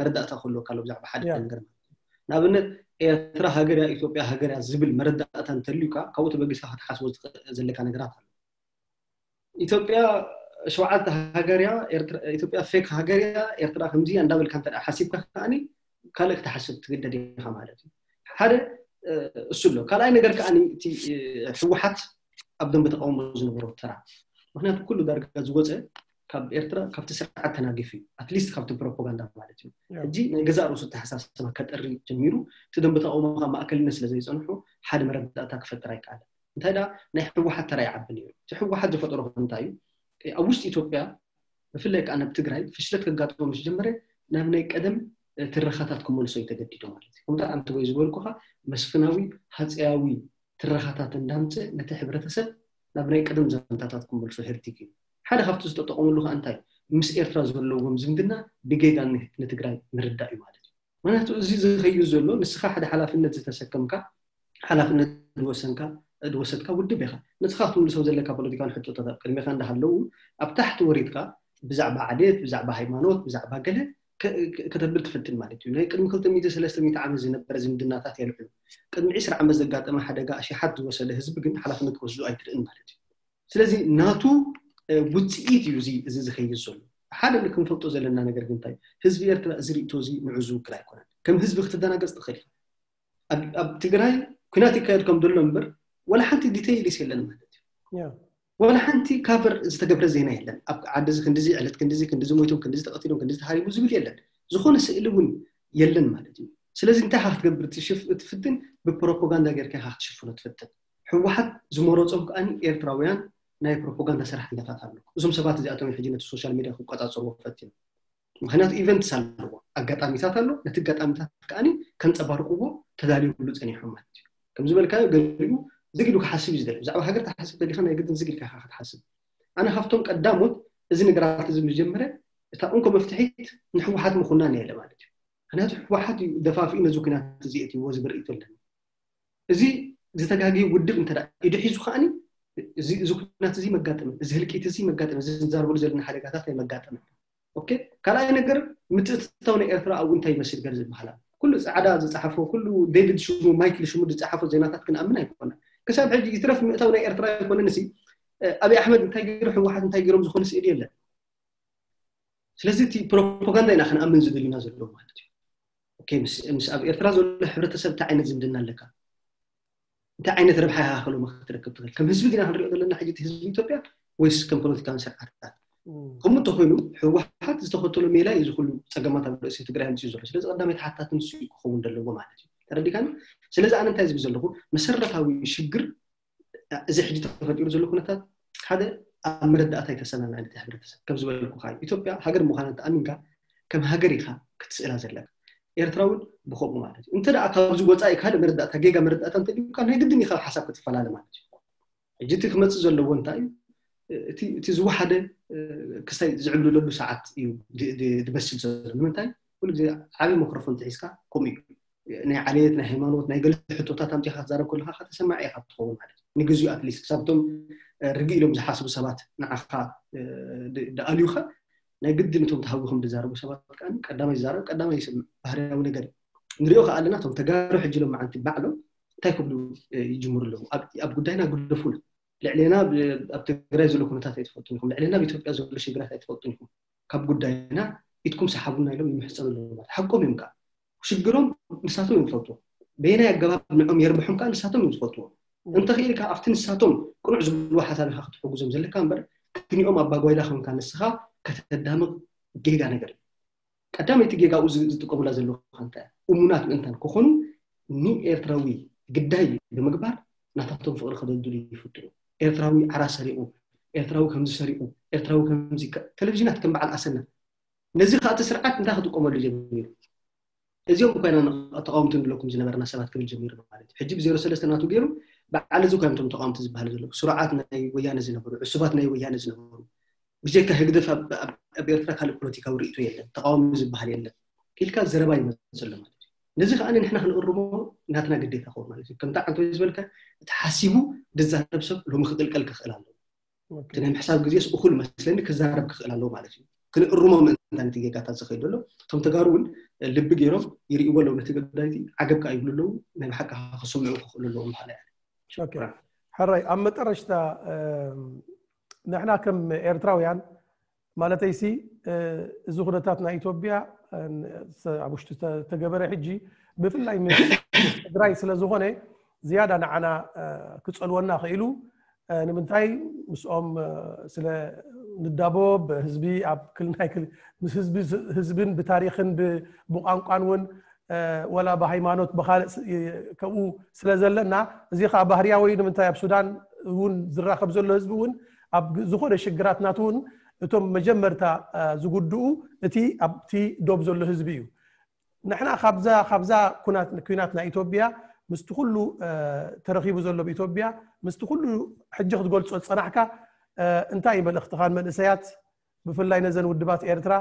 መረዳእታ ክህልወካ ኣሎ ብዛዕባ ሓደ ነገር ማለት እዩ። ንኣብነት ኤርትራ ሃገር እያ፣ ኢትዮጵያ ሃገር እያ ዝብል መረዳእታ እንተልዩካ ካብኡ ተበጊስካ ክትሓስቦ ዘለካ ነገራት ኣሎ። ኢትዮጵያ ሸውዓተ ሃገር እያ፣ ኢትዮጵያ ፌክ ሃገር እያ፣ ኤርትራ ከምዚ እያ እንዳበልካ እንተ ሓሲብካ ከዓኒ ካልእ ክትሓስብ ትግደድ ኢኻ ማለት እዩ። ሓደ እሱ ኣሎ። ካልኣይ ነገር ከዓኒ እቲ ህወሓት ኣብ ደንበ ተቃውሞ ዝነበሮ ተራ፣ ምክንያቱ ኩሉ ዳርጋ ዝወፀ ካብ ኤርትራ ካብቲ ስርዓት ተናጊፉ እዩ፣ ኣትሊስት ካብቲ ፕሮፓጋንዳ ማለት እዩ። ሕጂ ናይ ገዛእ ርእሱ ኣተሓሳስባ ከጠሪ ጀሚሩ፣ እቲ ደንበ ተቃውሞ ካብ ማእከልነት ስለ ዘይፀንሑ ሓደ መረዳእታ ክፈጥር ኣይከኣለን። እንታይ ደኣ ናይ ህወሓት ተራ ይዓቢ ነይሩ። እቲ ህወሓት ዝፈጠሮ እንታይ እዩ? ኣብ ውሽጢ ኢትዮጵያ ብፍላይ ከዓ ናብ ትግራይ ፍሽለት ከጋጥሞ ምስ ጀመረ ናብ ናይ ቀደም ትረኻታት ክመልሶ እዩ ተገዲዶ ማለት እዩ። ከምታ ኣንተ ወይ ዝበልኩኻ መስፍናዊ ሃፀያዊ ትረኻታት እንዳምፀ ነቲ ሕብረተሰብ ናብ ናይ ቀደም ዛንታታት ክመልሶ ህርቲግ እዩ። ሓደ ካብቲ ዝተጠቐምሉ ከዓ እንታይ ምስ ኤርትራ ዘለዎም ዝምድና ብጌጋ ንትግራይ ምርዳእ እዩ ማለት እዩ። ምክንያቱ እዚ ዝኸይድ ዘሎ ንስኻ ሓደ ሓላፍነት ዝተሰከምካ ሓላፍነት ዝወሰንካ ዝወሰድካ ውድብ ኢኻ። ንስኻ ክትምልሶም ዘለካ ፖለቲካን ሕቶታት ኣብ ቅድሜኻ እንዳሃለዉ ኣብ ታሕቲ ወሪድካ ብዛዕባ ዓሌት፣ ብዛዕባ ሃይማኖት፣ ብዛዕባ ገለ ከተብል ትፍትን ማለት እዩ። ናይ ቅድሚ ክልተ ሚእቲ ሰለስተ ሚእቲ ዓመት ዝነበረ ዝምድናታት የልዕሉ። ቅድሚ ዕስራ ዓመት ዘጋጠመ ሓደጋ ኣሽሓት ዝወሰደ ህዝቢ ግን ሓላፍነት ክወስዱ ኣይትርእን ማለት እዩ። ስለዚ ናቱ ውፅኢት እዩ እዚ ዝኸይድ ዘሎ። ሓደ ክንፈልጦ ዘለና ነገር ግን እንታይ ህዝቢ ኤርትራ እዚ ርእቶ እዚ ንዑ ዝውክል ኣይኮነን። ከም ህዝቢ ክትደናገፅ ትኽእል ኢኻ። ኣብ ትግራይ ኩናት ይካየድ ከም ዘሎ እምበር ወላ ሓንቲ ዲተይልስ የለን ማለት እዩ። ወላ ሓንቲ ካቨር ዝተገብረ ዜና የለን። ኣብ ዓዲ እዚ ክንዲዚ ዕለት ክንዲዚ ክንዲዚ ሞይቶም ክንዲዚ ተቐቲሎም ክንዲዚ ተሃሪሙ ዝብል የለን። ዝኾነ ስእሊ እውን የለን ማለት እዩ። ስለዚ እንታይ ኢኻ ክትገብር ትፍትን? ብፕሮፓጋንዳ ጌርካ ኢኻ ክትሽፍኖ ትፍትን። ህወሓት ዝመረፆም ከዓኒ ኤርትራውያን ናይ ፕሮፓጋንዳ ሰራሕተኛታት ኣሎ። እዞም ሰባት እዚኣቶም ሕጂ ነቲ ሶሻል ሚድያ ክቆጻጸርዎ ፈትዮም። ምክንያቱ ኢቨንትስ ኣለዎ፣ ኣጋጣሚታት ኣሎ። ነቲ ኣጋጣሚታት ከዓኒ ከንጸባርቅዎ ተዳልዩሉ ጸኒሖም ማለት እዩ። ከም ዝበልካዮ ገሊኡ ዝግ ኢሉ ክሓስብ እዩ ዝደሊ። ብዛዕባ ሃገር ትሓስብ ተሊኻ ናይ ግድን ዝግ ኢልካ ኢኻ ክትሓስብ። ኣነ ካብቶም ቀዳሞት እዚ ነገራት እዚ ምስ ጀመረ እታ እንኮ መፍትሒት ንህወሓት ምኹናን እየ ኢለ ማለት እዩ። ምክንያቱ ህወሓት እዩ ደፋፊኡ ነዚ ኩናት እዚ የእትይዎ ዝብል ርእይቶ ኣለኒ። እዚ ዝተጋግየ ውድብ እንተ ኢዱ ሒዙ ከዓኒ እዚ እዚ ኩናት እዚ መጋጠመ፣ እዚ ህልቂት እዚ መጋጠመ፣ እዚ ንዛረበሉ ዘለና ሓደጋታት ኣይመጋጠመን። ኦኬ፣ ካልኣይ ነገር ምትእትታው ናይ ኤርትራ ኣብኡ እንታይ ይመስል ገለ ዝበሃል ኣሎ። ኩሉ ጻዕዳ ዝጸሓፎ፣ ኩሉ ዴቪድ ሽሙ፣ ማይክል ሽሙ ዝጸሓፎ ዜናታት ክንኣምን ኣይኮነን። ክሳብ ሕጂ ይትረፍ ምእታው ናይ ኤርትራ ኣይኮነን። እሲ ኣብይ ኣሕመድ እንታይ ገይሩ፣ ህወሓት እንታይ ገይሮም ዝኾነ ስእሊ የለን። ስለዚ እቲ ፕሮፓጋንዳ ኢና ክንኣምን ዝደልና ዘሎ ማለት እዩ። ኦኬ፣ ምስ ምስ ኣብ ኤርትራ ዘሎ ሕብረተሰብ እንታይ ዓይነት ዝምድና ኣለካ? እንታይ ዓይነት ረብሓ ኢኻ ከሎማ ክትረክብ ትኽእል? ከም ህዝቢ ዲና ክንሪኦ ዘለና ሕጂ እቲ ህዝቢ ኢትዮጵያ ወይስ ከም ፖለቲካዊ ስርዓታት? ከምኡ እንተኾይኑ ህወሓት ዝተኸተሎ ሜላ እዩ እዚ ኩሉ ጸገማት ኣብ ርእሲ ትግራይ ኣምፅኡ ዘሎ። ስለዚ ቀዳማይ ተሓታቲ ንሱ እዩ ክኸውን ዘለዎ ማለት እዩ። ተረዲካኒ? ስለዚ ኣነ እንታይ ዝብል ዘለኹ መሰረታዊ ሽግር እዚ ሕጂ ተፈጢሩ ዘሎ ኩነታት ሓደ ኣብ መረዳእታ ኣይተሰማምዐን እቲ ሕብረተሰብ። ከም ዝበልኩኻ ኢትዮጵያ ሃገር ምዃና ተኣሚንካ ከም ሃገር ኢኻ ክትስእላ ዘለካ። ኤርትራ እውን ብኸምኡ ማለት እዩ። እንተ ደኣ ካብዚ ወፃኢ ካልእ መረዳእታ ጌጋ መረዳእታ እንተልዩካ ናይ ግድን ኢኻ ሓሳብ ክትፈላለ ማለት እዩ። ሕጂ እቲ ክመፅእ ዘለዎ እንታይ እዩ? እቲ እቲ ዝወሓደ ክስታይ ዝዕብልለሉ ሰዓት እዩ ድ- ድ- ድበስል ዘሎ። ንምንታይ? ኩሉ ግዜ ዓብዪ ማይክሮፎን ተሒዝካ ከምኡ እዩ። ናይ ዓሌት፣ ናይ ሃይማኖት፣ ናይ ገለ ሕቶታት ኣምፂኻ ክትዛረብ ከለካ ከተሰማዕ ኢኻ ትኸውን ማለት እዩ። ንግዚኡ ኣትሊስት ክሳብ እቶም ርግእ ኢሎም ዝሓስቡ ሰባት ንዓኻ ድ- ድኣልዩኻ ናይ ግድን እቶም ተሃዊኾም ዝዛረቡ ሰባት ከዓ ቀዳማይ ዝዛረብ ቀዳማይ ይስምዕ ባህርያዊ ነገር እዩ። ንሪኦ ከዓ ኣለና እቶም ተጋሩ ሕጂ ሎም መዓንቲ ባዕሎም እንታይ ክብሉ ይጅምሩ ኣለዉ። ኣብ ጉዳይና ግደፉና። ልዕሌና ኣብ ትግራይ ዘሎ ኩነታት ኣይትፈልጡን ኢኹም፣ ልዕሌና ኣብ ኢትዮጵያ ዘሎ ሽግራት ኣይትፈልጡን ኢኹም፣ ካብ ጉዳይና ኢድኩም ሰሓቡና ኢሎም ይምሕፀኑ ኣለዉ። ማለት ሓቆም እዮም። ከዓ ሽግሮም ንሳቶም እዮም ዝፈልጡ። በየናይ ኣገባብ ንዖም የርብሖም ከዓ ንሳቶም እዮም ዝፈልጥዎ። እንተኽኢልካ ኣብቲ ንሳቶም ቅኑዕ ዝብልዎ ሓሳብ ኢኻ ክትሕግዞም ዘለካ እምበር ክኒኦም ኣባጓይላ ኮንካ ንስኻ ከተዳምቕ ጌጋ ነገር እዩ። ቀዳመይቲ ጌጋ ኣብኡ ዝጥቀሙላ ዘለዉ እንታይ እሙናት ምእንታን ክኾኑ ንኤርትራዊ ግዳይ ብምግባር ናታቶም ፍቕሪ ከደልድሉ ይፍትኑ። ኤርትራዊ ዓራ ሰሪቑ፣ ኤርትራዊ ከምዚ ሰሪቑ፣ ኤርትራዊ ከምዚ ቴሌቪዥናት ከም በዓል ኣሰና ነዚ ከዓ እቲ ስርዓት እንታይ ክጥቀመሉ ጀሚሩ? እዚኦም እኮ ኢና ተቃወምቲ ንብለኩም ዝነበርና ሰባት ክብል ጀሚሩ ማለት እዩ። ሕጂ ብዜሮ ሰለስተ ናቱ ገይሩ በዓል እዚ እኮ እዮም እቶም ተቃወምቲ ዝበሃሉ ዘለዉ። ስሩዓት ናይ ወያነ ዝነበሩ፣ ዕሱባት ናይ ወያነ ዝነበሩ። ብጀካ ህግደፍ ኣብ ኤርትራ ካልእ ፖለቲካዊ ርእይቶ የለን፣ ተቃዋሚ ዝበሃል የለን ኢልካ ዘረባ ይመፅእ ኣሎ ማለት እዩ። ነዚ ከዓ ንሕና ክንእርሞ ናትና ግዴታ ክኸውን ማለት እዩ። ከምታ ዓንተ ዝበልካ እቲ ሓሲቡ ዝዛረብ ሰብ ሎሚ ክቅልቀል ክኽእል ኣለዎ። እቲ ናይ ምሕሳብ ግዜስ እኹል መስለኒ ክዛረብ ክኽእል ኣለዎ ማለት እዩ። ክንእርሞ ምእንታን እቲ ጌጋታት ዝኸይድ ዘሎ እቶም ተጋሩ እውን ልቢ ገይሮም ይርእይዎ ኣለዉ። ነቲ ገዳይቲ ዓገብ ከዓ ይብሉ ኣለዉ። ናይ ብሓቂ ከዓ ክስምዑ ክኽእሉ ኣለዎም ምዃኑ እያ። ሕራይ ኣብ መጠረሽታ ንሕና ከም ኤርትራውያን ማለተይሲ እዚ ኩነታት ናይ ኢትዮጵያ ኣብ ውሽጢ ተገበረ ሕጂ ብፍላይ ምስ ትግራይ ስለ ዝኾነ ዝያዳ ንዓና ክፀልወና ክኢሉ ንምንታይ ምስኦም ስለ ንዳቦ ብህዝቢ ኣብ ክልናይ ምስ ህዝብን ብታሪክን ብቋንቋን እውን ወላ ብሃይማኖት ብካልእ ከምኡ ስለ ዘለና እዚ ከዓ ባህርያዊ ንምንታይ ኣብ ሱዳን እውን ዝራኸብ ዘሎ ህዝቢ እውን ኣብ ዝኾነ ሽግራት ናቱ እውን እቶም መጀመርታ ዝጉድኡ እቲ ኣብቲ ዶብ ዘሎ ህዝቢ እዩ። ንሕና ካብዛ ካብዛ ኩናት ኩናት ናይ ኢትዮጵያ ምስቲ ኩሉ ተረኺቡ ዘሎ ብኢትዮጵያ ምስቲ ኩሉ ሕጂ ክትገልጾ ዝጸናሕካ እንታይ እዩ መልእኽትኻ ንመንእሰያት ብፍላይ ነዘን ውድባት ኤርትራ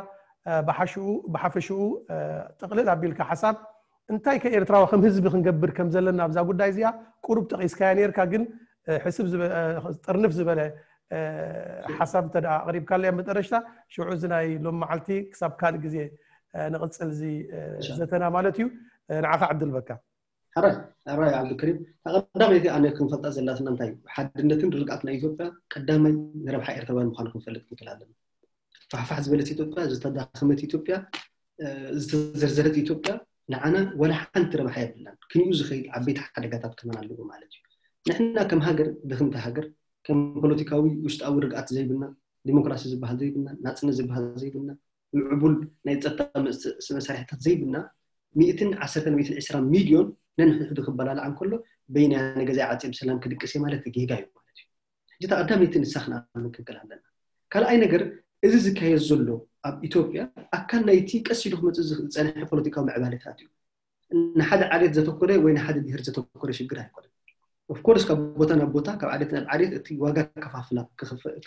ብሓሽኡ ብሓፈሽኡ ጥቕልል ኣቢልካ ሓሳብ እንታይ ከኤርትራዊ ከም ህዝቢ ክንገብር ከም ዘለና ኣብዛ ጉዳይ እዚኣ ቁሩብ ጠቒስካያ ነርካ ግን ሕስብ ጥርንፍ ዝበለ ሓሳብ እንተ ኣቕሪብካለይ ኣብ መጠረሽታ ሽዑ እዚ ናይ ሎም መዓልቲ ክሳብ ካልእ ግዜ ንቕፅል እዚ ዘተና ማለት እዩ። ንዓኻ ዕድል በካ። ሕራይ ሕራይ ዓብዱልከሪም፣ ቀዳመይቲ ኣነ ክንፈልጣ ዘላትና እንታይ ሓድነትን ርግኣት ናይ ኢትዮጵያ ቀዳማይ ንረብሓ ኤርትራውያን ምዃኑ ክንፈልጥ ክንክእል ኣለና። ፋሕፋሕ ዝበለት ኢትዮጵያ፣ ዝተዳኸመት ኢትዮጵያ፣ ዝተዘርዘረት ኢትዮጵያ ንዓና ወላ ሓንቲ ረብሓ የብላን። ክንኡ ዝኸይድ ዓበይቲ ሓደጋታት ከማን ኣለዎ ማለት እዩ። ንሕና ከም ሃገር ድኽምቲ ሃገር፣ ከም ፖለቲካዊ ውሽጣዊ ርግኣት ዘይብልና፣ ዲሞክራሲ ዝበሃል ዘይብልና፣ ናፅነት ዝበሃል ዘይብልና፣ ምዕቡል ናይ ፀጥታ መሳርሕታት ዘይብልና ሚእትን ዓሰርተን ሚእትን ዕስራ ሚልዮን ነንሕድሕዱ ክበላልዓ እንከሎ በይናይ ኣነ ገዛይ ዓፅየ ብሰላም ክድቅስ እየ ማለት ጌጋ እዩ ማለት እዩ። ሕጂ እታ ቀዳመይቲ ንሳ ክንኣምን ክንክእል ኣለና። ካልኣይ ነገር፣ እዚ ዝካየድ ዘሎ ኣብ ኢትዮጵያ ኣካል ናይቲ ቀስ ኢሉ ክመፅእ ዝፀንሐ ፖለቲካዊ ምዕባለታት እዩ። ንሓደ ዓሌት ዘተኮረ ወይ ንሓደ ብሄር ዘተኮረ ሽግር ኣይኮነን። ኦፍኮርስ ካብ ቦታ ናብ ቦታ ካብ ዓሌት ናብ ዓሌት እቲ ዋጋ ከፋፍላ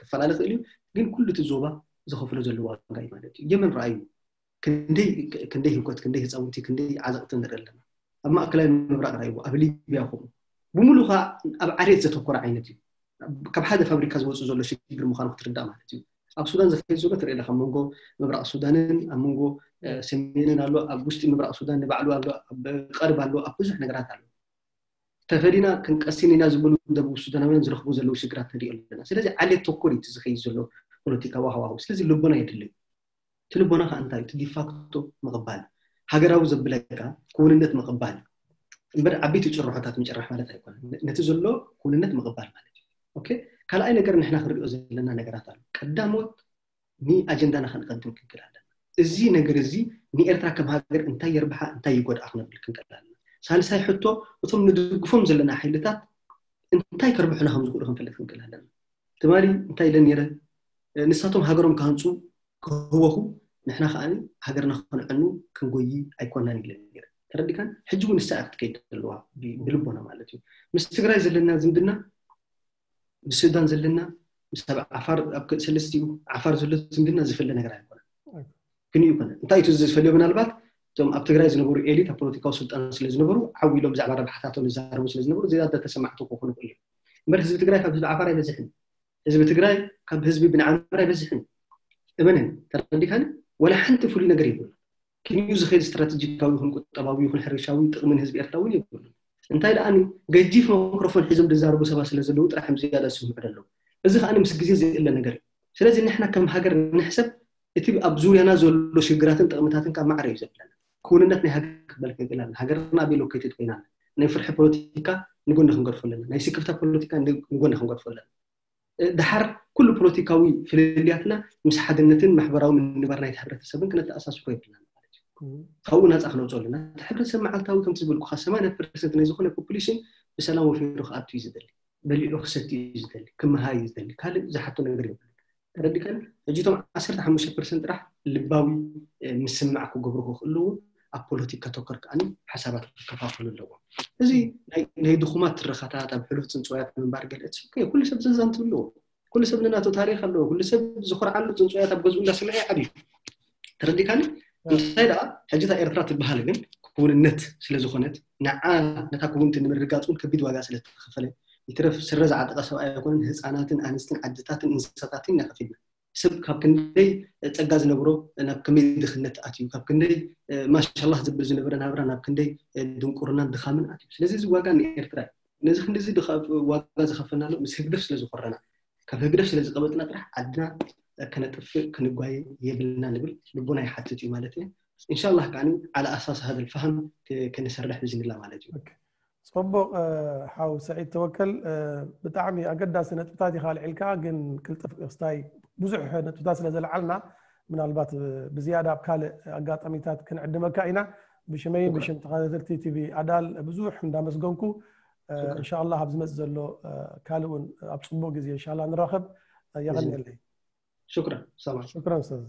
ክፈላለ ክእል እዩ። ግን ኩሉ እቲ ዞባ ዝኸፍሎ ዘሎ ዋጋ እዩ ማለት እዩ። የመን ረኣዩ ክንደይ ህውከት፣ ክንደይ ህፃውንቲ፣ ክንደይ ዓዘቕቲ ንርኢ ኣለና። ኣብ ማእከላይ ምብራቕ ረኣይዎ፣ ኣብ ሊብያ ከምኡ። ብምሉ ከዓ ኣብ ዓሌት ዘተኮረ ዓይነት እዩ። ካብ ሓደ ፋብሪካ ዝወፁ ዘሎ ሽግር ምዃኑ ክትርዳእ ማለት እዩ። ኣብ ሱዳን ዝኸይድ ዘሎ ትርኢ ኣለካ፣ ኣብ መንጎ ምብራቕ ሱዳንን ኣብ መንጎ ሰሜንን ኣሎ፣ ኣብ ውሽጢ ምብራቕ ሱዳን ንባዕሉ ኣሎ፣ ኣብ ቀርብ ኣሎ፣ ኣብ ብዙሕ ነገራት ኣሎ። ተፈሊና ክንቀስን ኢና ዝብሉ ደቡብ ሱዳናውያን ዝረኽቡ ዘለዉ ሽግራት ንሪኦ ኣለና። ስለዚ ዓሌት ተኮር እዩ ዝኸይድ ዘሎ ፖለቲካዊ ሃዋሁ። ስለዚ ልቦና የድልዩ። እቲ ልቦና ከዓ እንታይ? እቲ ዲፋክቶ ምቕባል፣ ሃገራዊ ዘብለካ ክውንነት ምቕባል እምበር ዓበይቲ ጭርሖታት ምጭራሕ ማለት ኣይኮነን። ነቲ ዘሎ ክውንነት ምቕባል ማለት እዩ። ኦኬ፣ ካልኣይ ነገር ንሕና ክንሪኦ ዘለና ነገራት ኣሎ። ቀዳሞት ንኣጀንዳና ከንቀድም ክንክእል ኣለና። እዚ ነገር እዚ ንኤርትራ ከም ሃገር እንታይ የርብሓ እንታይ ይጎድኣ ክነብል ክንክእል ኣለና። ሳልሳይ ሕቶ፣ እቶም ንድግፎም ዘለና ሓይልታት እንታይ ከርብሑና ከም ዝኽእሉ ክንፈልጥ ክንክእል ኣለና። ትማሊ እንታይ ኢለ ነይረ? ንሳቶም ሃገሮም ክሃንፁ ክህወኹ ንሕና ከዓ ሃገርና ከነዕኑ ክንጎይ ኣይኮናን ኢለ ነይረ። ተረዲካን? ሕጂ እውን ንሳ ክትከይድ ዘለዋ ብልቦና ማለት እዩ። ምስ ትግራይ ዘለና ዝምድና ምስ ሱዳን ዘለና ምስ ኣብ ዓፋር ኣብ ሰለስቲኡ ዓፋር ዘሎ ዝምድና ዝፍለ ነገር ኣይኮነን። ክንዩ ይኮነ እንታይ እቲ ዝፈልዮ ምናልባት እቶም ኣብ ትግራይ ዝነበሩ ኤሊት ኣብ ፖለቲካዊ ስልጣን ስለ ዝነበሩ ዓው ኢሎም ብዛዕባ ረብሓታቶም ዝዛረቡ ስለ ዝነበሩ ዝያዳ ተሰማዕቲ ክኾኑ ክእሉ። እምበር ህዝቢ ትግራይ ካብ ህዝቢ ዓፋር ኣይበዝሕን። ህዝቢ ትግራይ ካብ ህዝቢ ብንዓምር ኣይበዝሕን። እመነን ተረዲካን? ወላ ሓንቲ ፍሉይ ነገር የብሉ። ክንዩ ዝኸይድ ስትራቴጂካዊ ይኹን ቁጠባዊ ይኹን ሕርሻዊ ጥቕሚ ንህዝቢ ኤርትራ እውን የብሉን። እንታይ ደኣ ገጂፍ ማይክሮፎን ሒዞም ዝዛረቡ ሰባት ስለ ዘለዉ ጥራሕ እዮም ዝያዳ ዝስምዑ ዘለዉ። እዚ ከዓ ምስ ግዜ ዝእለ ነገር እዩ። ስለዚ ንሕና ከም ሃገር ንሕሰብ፣ እቲ ኣብ ዙርያና ዘሎ ሽግራትን ጥቕምታትን ካብ ማዕረ እዩ ዘለና። ክውንነት ናይ ሃገር ክበል ክንክእል ኣለና። ሃገርና ኣበይ ሎኬትድ ኮይና፣ ናይ ፍርሒ ፖለቲካ ንጎኒ ክንገድፎ ኣለና። ናይ ስክፍታ ፖለቲካ ንጎኒ ክንገድፎ ኣለና። ድሓር ኩሉ ፖለቲካዊ ፍልልያትና ምስ ሓድነትን ማሕበራዊ ምንባር ናይቲ ሕብረተሰብን ክነተኣሳስሮ የብልናን ማለት እዩ። ካብኡ ናፃ ክነውፅኦ ኣለና። እቲ ሕብረተሰብ መዓልታዊ ከምቲ ዝበልኩኻ ሰማንያ ፐርሰንት ናይ ዝኾነ ፖፑሌሽን ብሰላም ወፊሩ ክኣቱ እዩ ዝደሊ፣ በሊዑ ክሰቲ እዩ ዝደሊ፣ ክመሃር እዩ ዝደሊ፣ ካልእ ዝሓቶ ነገር የብሉ። ተረዲካን? ሕጂ እቶም ዓሰርተ ሓሙሽተ ፐርሰንት ጥራሕ ልባዊ ምስማዕ ክገብሩ ክኽእሉ ኣብ ፖለቲካ ተኮር ከዓኒ ሓሳባት ክከፋፈሉ ኣለዎም። እዚ ናይ ድኹማት ትረኻታት ኣብ ሕሉፍ ፅንፅዋያት ምንባር ገለ ኩሉ ሰብ ዘዛንትብሉ ኩሉ ሰብ ንናቱ ታሪኽ ኣለዎ። ኩሉ ሰብ ዝኾርዓሉ ፅንፅዋያት ኣብ ገዝኡ እንዳሰምዐ ይዓብዩ። ተረዲካኒ? እንታይ ደኣ ሕጂ እታ ኤርትራ ትበሃል ግን ክውንነት ስለ ዝኾነት ንዓ ነታ ክውንቲ ንምርግጋፅ እውን ከቢድ ዋጋ ስለ ዝተኸፈለ ይትረፍ ስረ ዝዓጠቐ ሰብኣይ ኣይኮነን ህፃናትን ኣንስትን ዓድታትን እንስሳታትን ኢና ከፊልና። ሰብ ካብ ክንደይ ፀጋ ዝነብሮ ናብ ከመይ ድኽነት ኣትዩ፣ ካብ ክንደይ ማሻላህ ዝብል ዝነበረ ናብራ ናብ ክንደይ ድንቁርናን ድኻምን ኣትዩ። ስለዚ እዚ ዋጋ ንኤርትራ እዩ። ነዚ ክንዲዚ ዋጋ ዝኸፈልናሉ ምስ ህግደፍ ስለ ዝኾረና ካብ ህግደፍ ስለ ዝቐበጥና ጥራሕ ዓድና ከነጥፍእ ክንጓየ የብልና ንብል ልቦና ይሓትት እዩ ማለት እዩ። ኢንሻላህ ከዓኒ ዓላ ኣሳስ ሃደ ልፋሃም ክንሰርሕ ብዝንላ ማለት እዩ። ፅቡቕ ሓው ሰዒድ ተወከል፣ ብጣዕሚ ኣገዳሲ ነጥብታት ኢኻ ኣልዒልካ፣ ግን ቅልጥፍ ክስታይ ብዙሕ ነጥብታት ስለ ዘለዓልና ምናልባት ብዝያዳ ኣብ ካልእ ኣጋጣሚታት ክንዕድመካ ኢና። ብሽመይን ብሽም ተኸታተልቲ ቲቪ ኣዳል ብዙሕ እንዳመስገንኩ እንሻላ ኣብ ዝመፅእ ዘሎ ካልእ እውን ኣብ ፅቡቅ ግዜ እንሻላ ንራኸብ። የቐንየለይ። ሽክረን ሰማዕ። ሽክረን ኡስታዝ።